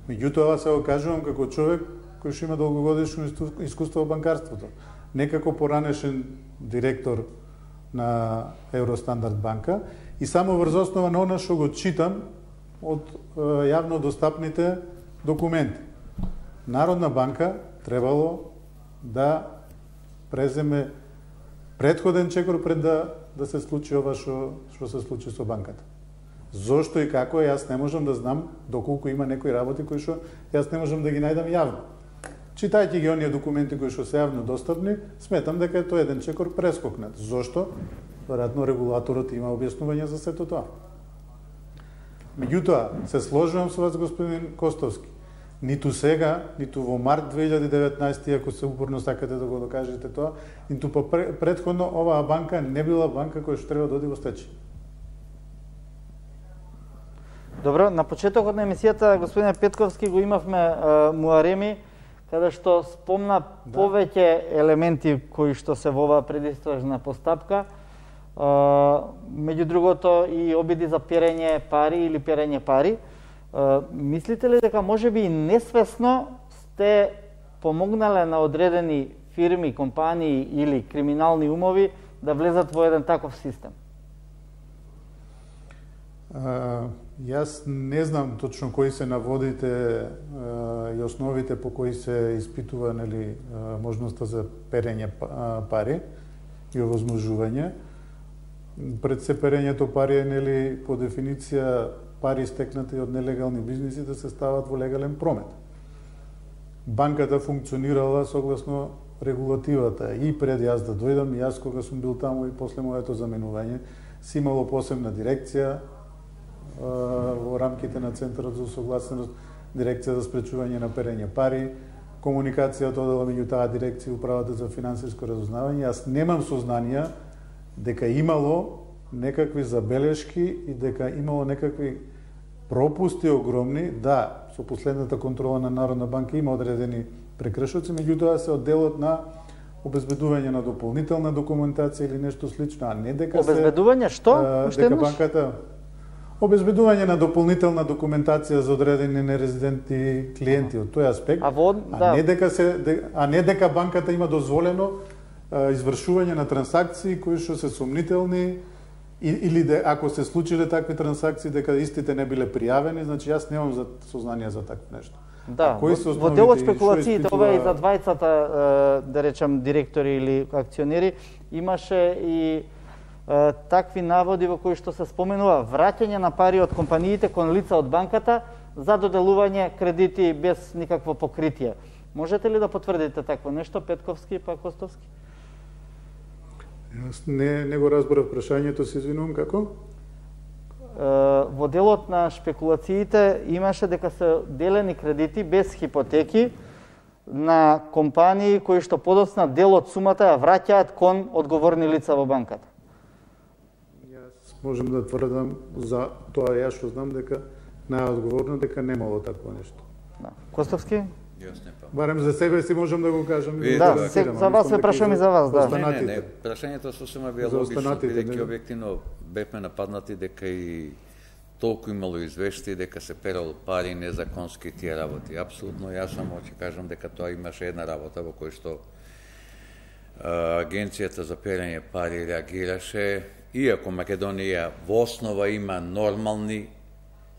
меѓутоа се го кажувам како човек кој што има долгогодишно исту- искуство во банкарството. Не како поранешен директор на Евростандард банка и само врз основа на она што го читам од е, јавно достапните документи. Народна банка требало да преземе претходен чекор пред да да се случи ова што што се случи со банката. Зошто и како јас не можам да знам, доколку има некои работи кои што јас не можам да ги најдам јавно. Читајќи ги оние документи кои што се јавно достапни, сметам дека е тоа еден чекор прескокнат. Зошто? Веројатно регулаторот има објаснување за сето тоа. Меѓутоа, се сложувам со вас, господин Костовски. Ниту сега, ниту во март две илјади и деветнаесета, ако се упорно сакате да го докажете тоа, ниту по претходно оваа банка не била банка која што треба да оди во стечај. Добро, на почетокот на емисијата господин Петковски го имавме е, Муареми, каде што спомна да. повеќе елементи кои што се во оваа предистражна постапка. Uh, меѓу другото и обиди за перење пари или перење пари. Uh, мислите ли дека можеби и несвесно сте помогнале на одредени фирми, компании или криминални умови да влезат во еден таков систем? Uh, јас не знам точно кои се наводите uh, и основите по кои се испитува нели, uh, можноста за перење пари и овозможување. Пред се перењето пари е нели по дефиниција пари стекнати од нелегални бизниси да се стават во легален промет. Банката функционирала согласно регулативата и пред јас да дојдам, и јас кога сум бил таму и после моето заменување, си имало посебна дирекција во рамките на Центарот за усогласеност, дирекција за спречување на перење пари, комуникацијата одела меѓу таа дирекција и управата за финансиско разузнавање. Јас немам сознанија дека имало некакви забелешки и дека имало некакви пропусти огромни. Да, со последната контрола на Народна банка има одредени прекршоци, меѓутоа се од делот на обезбедување на дополнителна документација или нешто слично, а не дека се... Обезбедување што? А, дека банката... Обезбедување на дополнителна документација за одредени нерезидентни клиенти од тој аспект, а, во, да. а, не дека се, а не дека банката има дозволено извршување на трансакции кои што се сомнителни или де, ако се случиле такви трансакции дека истите не биле пријавени, значи јас немам за сознание за такво нешто. Да, во, во делот спекулациите, испитува... ова и за двајцата, да речам, директори или акционери, имаше и е, такви наводи во кои што се споменува враќање на пари од компаниите кон лица од банката за доделување кредити без никакво покритие. Можете ли да потврдите такво нешто, Петковски па Костовски? Јас не, не го разборав прашањето, се извинувам, како? Во делот на шпекулациите имаше дека се делени кредити без хипотеки на компании кои што подоцна дел од сумата ја враќаат кон одговорни лица во банката. Јас можам да тврдам за тоа, јас што знам дека најодговорно дека немало такво нешто. Да. Костовски? Барем за себе си можам да го кажам. Да, да се, за вас се прашам и за вас, да. Не, не, не, прашањето сосема бија логично, бидејќи објективно бевме нападнати дека и толку имало извештаи дека се перало пари незаконски тие работи. Апсолутно, јас само ќе кажам дека тоа имаше една работа во која што а, Агенцијата за перење пари реагираше, иако Македонија во основа има нормални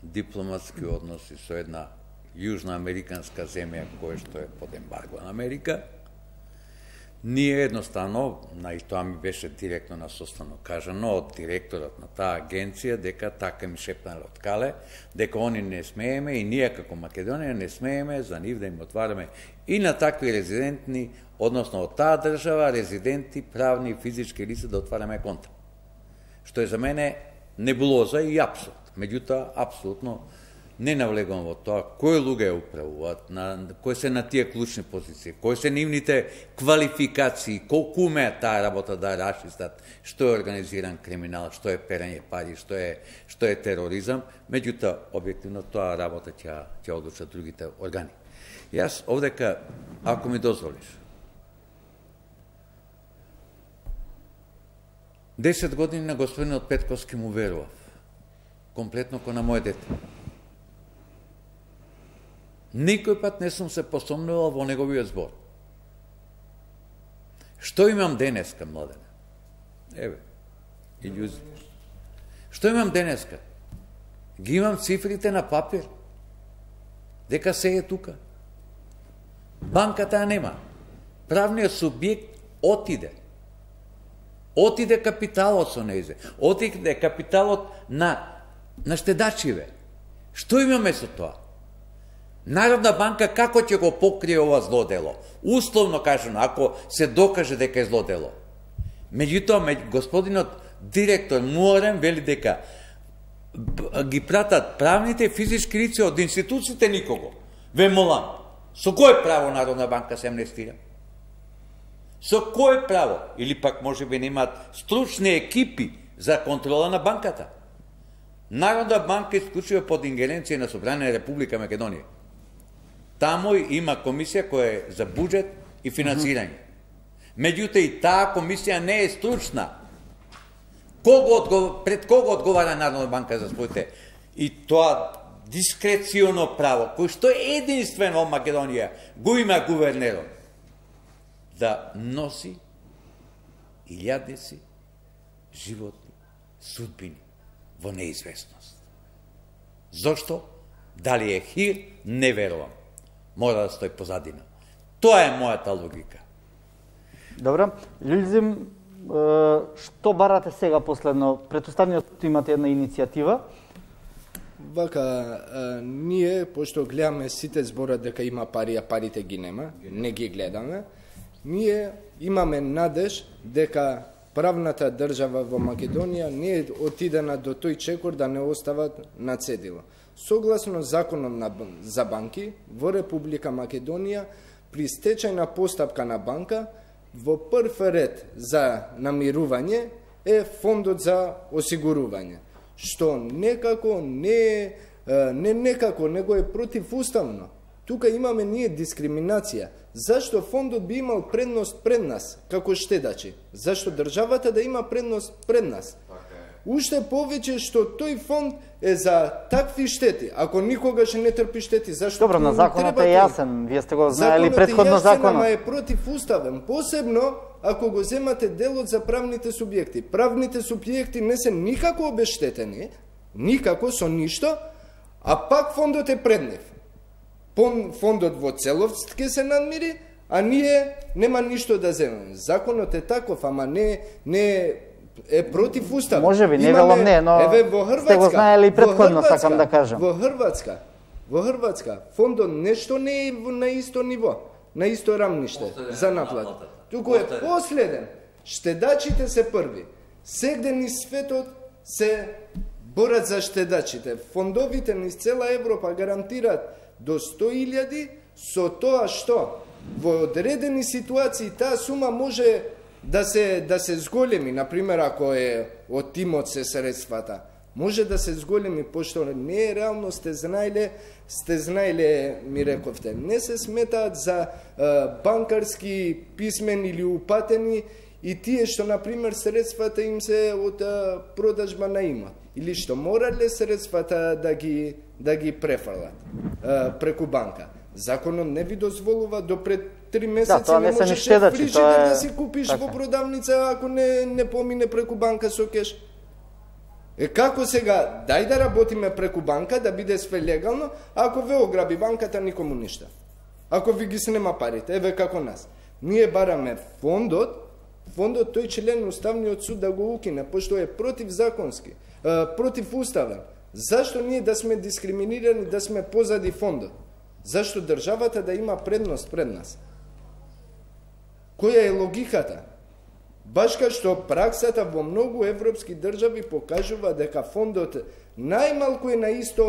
дипломатски односи со една јужноамериканска земја која што е под ембарго на Америка, ние едноставно, на и тоа ми беше директно на состанок кажано од директорот на таа агенција, дека така ми шепнале од кале, дека они не смееме и ние како Македонија не смееме за нив да им отвараме и на такви резидентни, односно од таа држава, резиденти, правни и физички лица да отвараме конта. Што е за мене небулоза и апсурд. Меѓутоа, апсолутно не навлегувам во тоа кои луѓе ја управуваат, на кои се на тие клучни позиции, кои се нивните квалификации, колку умеат таа работа да расчистат, што е организиран криминал, што е перење пари, што е што е тероризам, меѓутоа објективно тоа работа ќе ќе одлучат другите органи. Јас овдека, ако ми дозволиш, десет години на господинот Петковски му верував, комплетно ко на моје дете. Никој пат не сум се посомнувал во неговиот збор. Што имам денеска, младене? Еве, илјузи. Што имам денеска? Ги имам цифрите на папир. Дека се е тука. Банката ја нема. Правниот субјект отиде. Отиде капиталот со нејзе. Отиде капиталот на, на штедачиве. Што имаме со тоа? Народна банка како ќе го покрие ова злодело? Условно кажано, ако се докаже дека е злодело. Меѓутоа, господинот директор Муарен вели дека ги пратат правните физички лица од институциите никого. Ве молам, со кој право Народна банка се амнестира? Со кој право? Или пак може би немаат стручни екипи за контрола на банката? Народна банка исклучува под ингеренција на Собрание Република Македонија. Тамо има комисија која е за буџет и финансирање. Меѓутоа и таа комисија не е стручна. Кого одгов... Пред кого одговара Народна банка за своите? И тоа дискреционо право, кој што единствено во Македонија го има гувернерот, да носи илјадници животни судбини во неизвестност. Зошто? Дали е хир? Не верувам. Мора да стои позадина. Тоа е мојата логика. Добро. Љузим, што барате сега последно? Претоставниот имате една иницијатива. Вака, а, ние, пошто гледаме сите зборат дека има пари, а парите ги нема, не ги гледаме, ние имаме надеж дека правната држава во Македонија не е отидена до тој чекор да не остават на цедило. Согласно законот на, за банки, во Република Македонија, при стечајна постапка на банка, во прв ред за намирување е фондот за осигурување, што некако не, не некако, него е противуставно. Тука имаме ние дискриминација. Зашто фондот би имал предност пред нас, како штедачи? Зашто државата да има предност пред нас? Уште повеќе што тој фонд е за такви штети. Ако никогаш не трпи штети, зашто... Добро, на законот е јасен. Вие сте го знаели предходно законот. Законот е јасен, ама е противуставен. Посебно, ако го земате делот за правните субјекти. Правните субјекти не се никако обештетени, никако со ништо, а пак фондот е пред нив. Фондот во целост ќе се надмири, а ние нема ништо да земеме. Законот е таков, ама не не е против устав. Може би, не велам не, но еве, во Хрватска, сте го знаели и предходно, сакам да кажам. Во Хрватска, во Хрватска, фондот нешто не е на исто ниво, на исто рамниште за наплата. Туку е последен. Штедачите се први. Сегде низ светот се борат за штедачите. Фондовите низ цела Европа гарантираат до сто илјади, со тоа што во одредени ситуации таа сума може да се да се зголеми, например ако е од тимот се средствата, може да се зголеми, пошто не е реално, сте знаеле, сте знаеле, ми рековте, не се сметаат за е, банкарски писмени или упатени и тие што, например, средствата им се од е, продажба на имот, или што морале средствата да ги да ги префрлат е, преку банка. Законот не ви дозволува до пред три месеци да, не не можеш фрижидер е... да си купиш така. Во продавница ако не не помине преку банка со кеш. Е како сега, дај да работиме преку банка, да биде све легално, ако ве ограби банката никому ништа. Ако ви ги снема парите, еве како нас. Ние бараме фондот, фондот тој член Уставниот суд да го укине, пошто е противзаконски, противуставен. Зашто ние да сме дискриминирани, да сме позади фондот? Зашто државата да има предност пред нас? Која е логиката? Баш кај што праксата во многу европски држави покажува дека фондот најмалку е на исто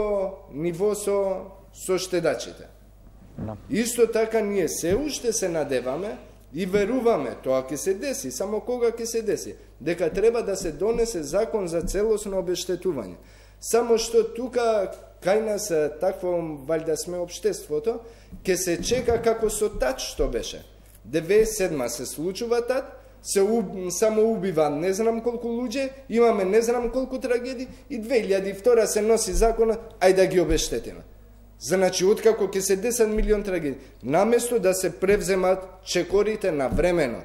ниво со, со штедачите. No. Исто така ние се уште се надеваме и веруваме, тоа ќе се деси, само кога ќе се деси, дека треба да се донесе закон за целосно обештетување. Само што тука кај нас такво валјда сме општеството, ќе се чека како со тат што беше. деветдесет и седма се случува тат, се уб, само убива не знам колку луѓе, имаме не знам колку трагедии и две илјади и втора се носи законот, ај да ги обештетиме. Значи, откако ќе се десет милион трагедии, наместо да се превземат чекорите на времено,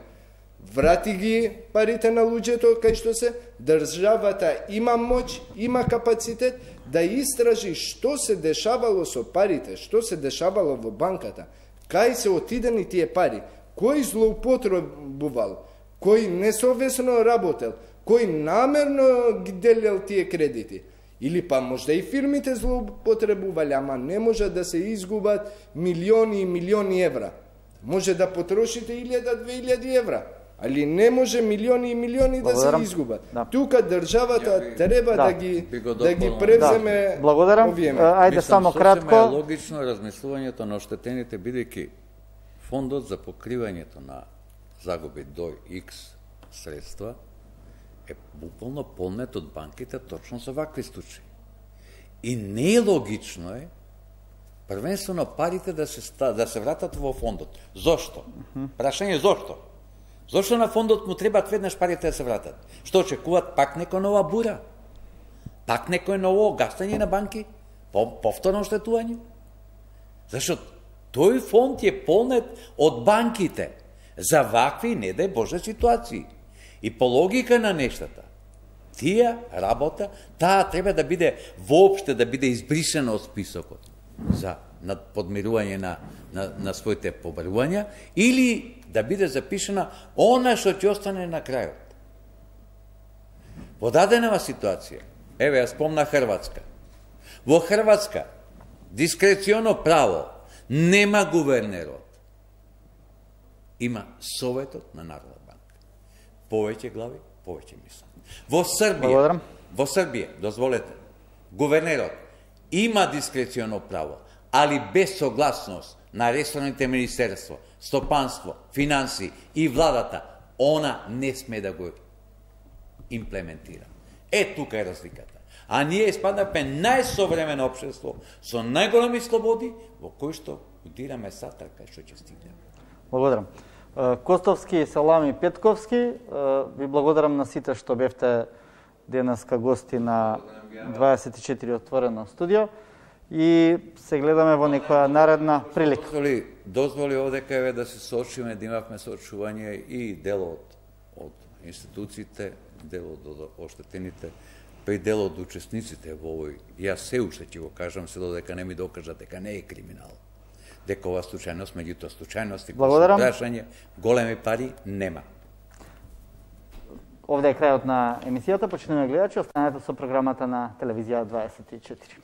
врати ги парите на луѓето, кај што се, државата има моќ, има капацитет да истражи што се дешавало со парите, што се дешавало во банката, Кај се отидени тие пари? Кој злоупотребувал? Кој несовесно работел? Кој намерно ги делел тие кредити? Или па можда и фирмите злоупотребувале, ама не може да се изгубат милиони и милиони евра. Може да потрошите илјада, две илјади евра, али не може милиони и милиони да се изгубат. Да. Тука државата би, треба да, да ги би да ги превземе. Да. Благодарам. Ајде само кратко. Е логично размислувањето на оштетените, бидејќи фондот за покривањето на загуби до X средства е буквално полнет од банките точно за вакви случаи. И не е логично е првенствено парите да се да се вратат во фондот. Зошто? Прашање зошто? Зошто на фондот му требаат веднаш парите да се вратат? Што очекуваат пак некоја нова бура? Пак некој ново гастање на банки? Повторно оштетување? Зашто тој фонд е полнет од банките за вакви, не дај Боже, ситуации. И по логика на нештата, тие работа, таа треба да биде воопште да биде избрисана од списокот за подмирување на, на, на своите побарувања, или да биде запишена она што ќе остане на крајот. Во даденава ситуација, еве, ја спомна Хрватска. Во Хрватска, дискреционо право нема гувернерот. Има Советот на Народна банка. Повеќе глави, повеќе мислам. Во Србија, Благодарам. во Србија, дозволете, гувернерот има дискреционо право, али без согласност на ресорните министерство, стопанство, финанси и владата, она не сме да го имплементира. Е, тука е разликата. А ние испаднавме најсовремено општество со најголеми слободи, во кој што удираме сатар кај што ќе стигнеме. Благодарам. Костовски, Салами, Петковски, ви благодарам на сите што бевте денеска гости на дваесет и четири отворено студио и се гледаме во некоја наредна прилика. Дозволи, дозволи овдека еве да се соочиме, да имавме соочување и дел од, од институциите, дел од оштетените, па и дел од учесниците во овој. Јас се уште ќе го кажам, се додека не ми докажат дека не е криминал. Дека ова случајност, меѓутоа случајности, прашање, големи пари нема. Овде е крајот на емисијата. Почнеме гледачи, останете со програмата на телевизија дваесет и четири.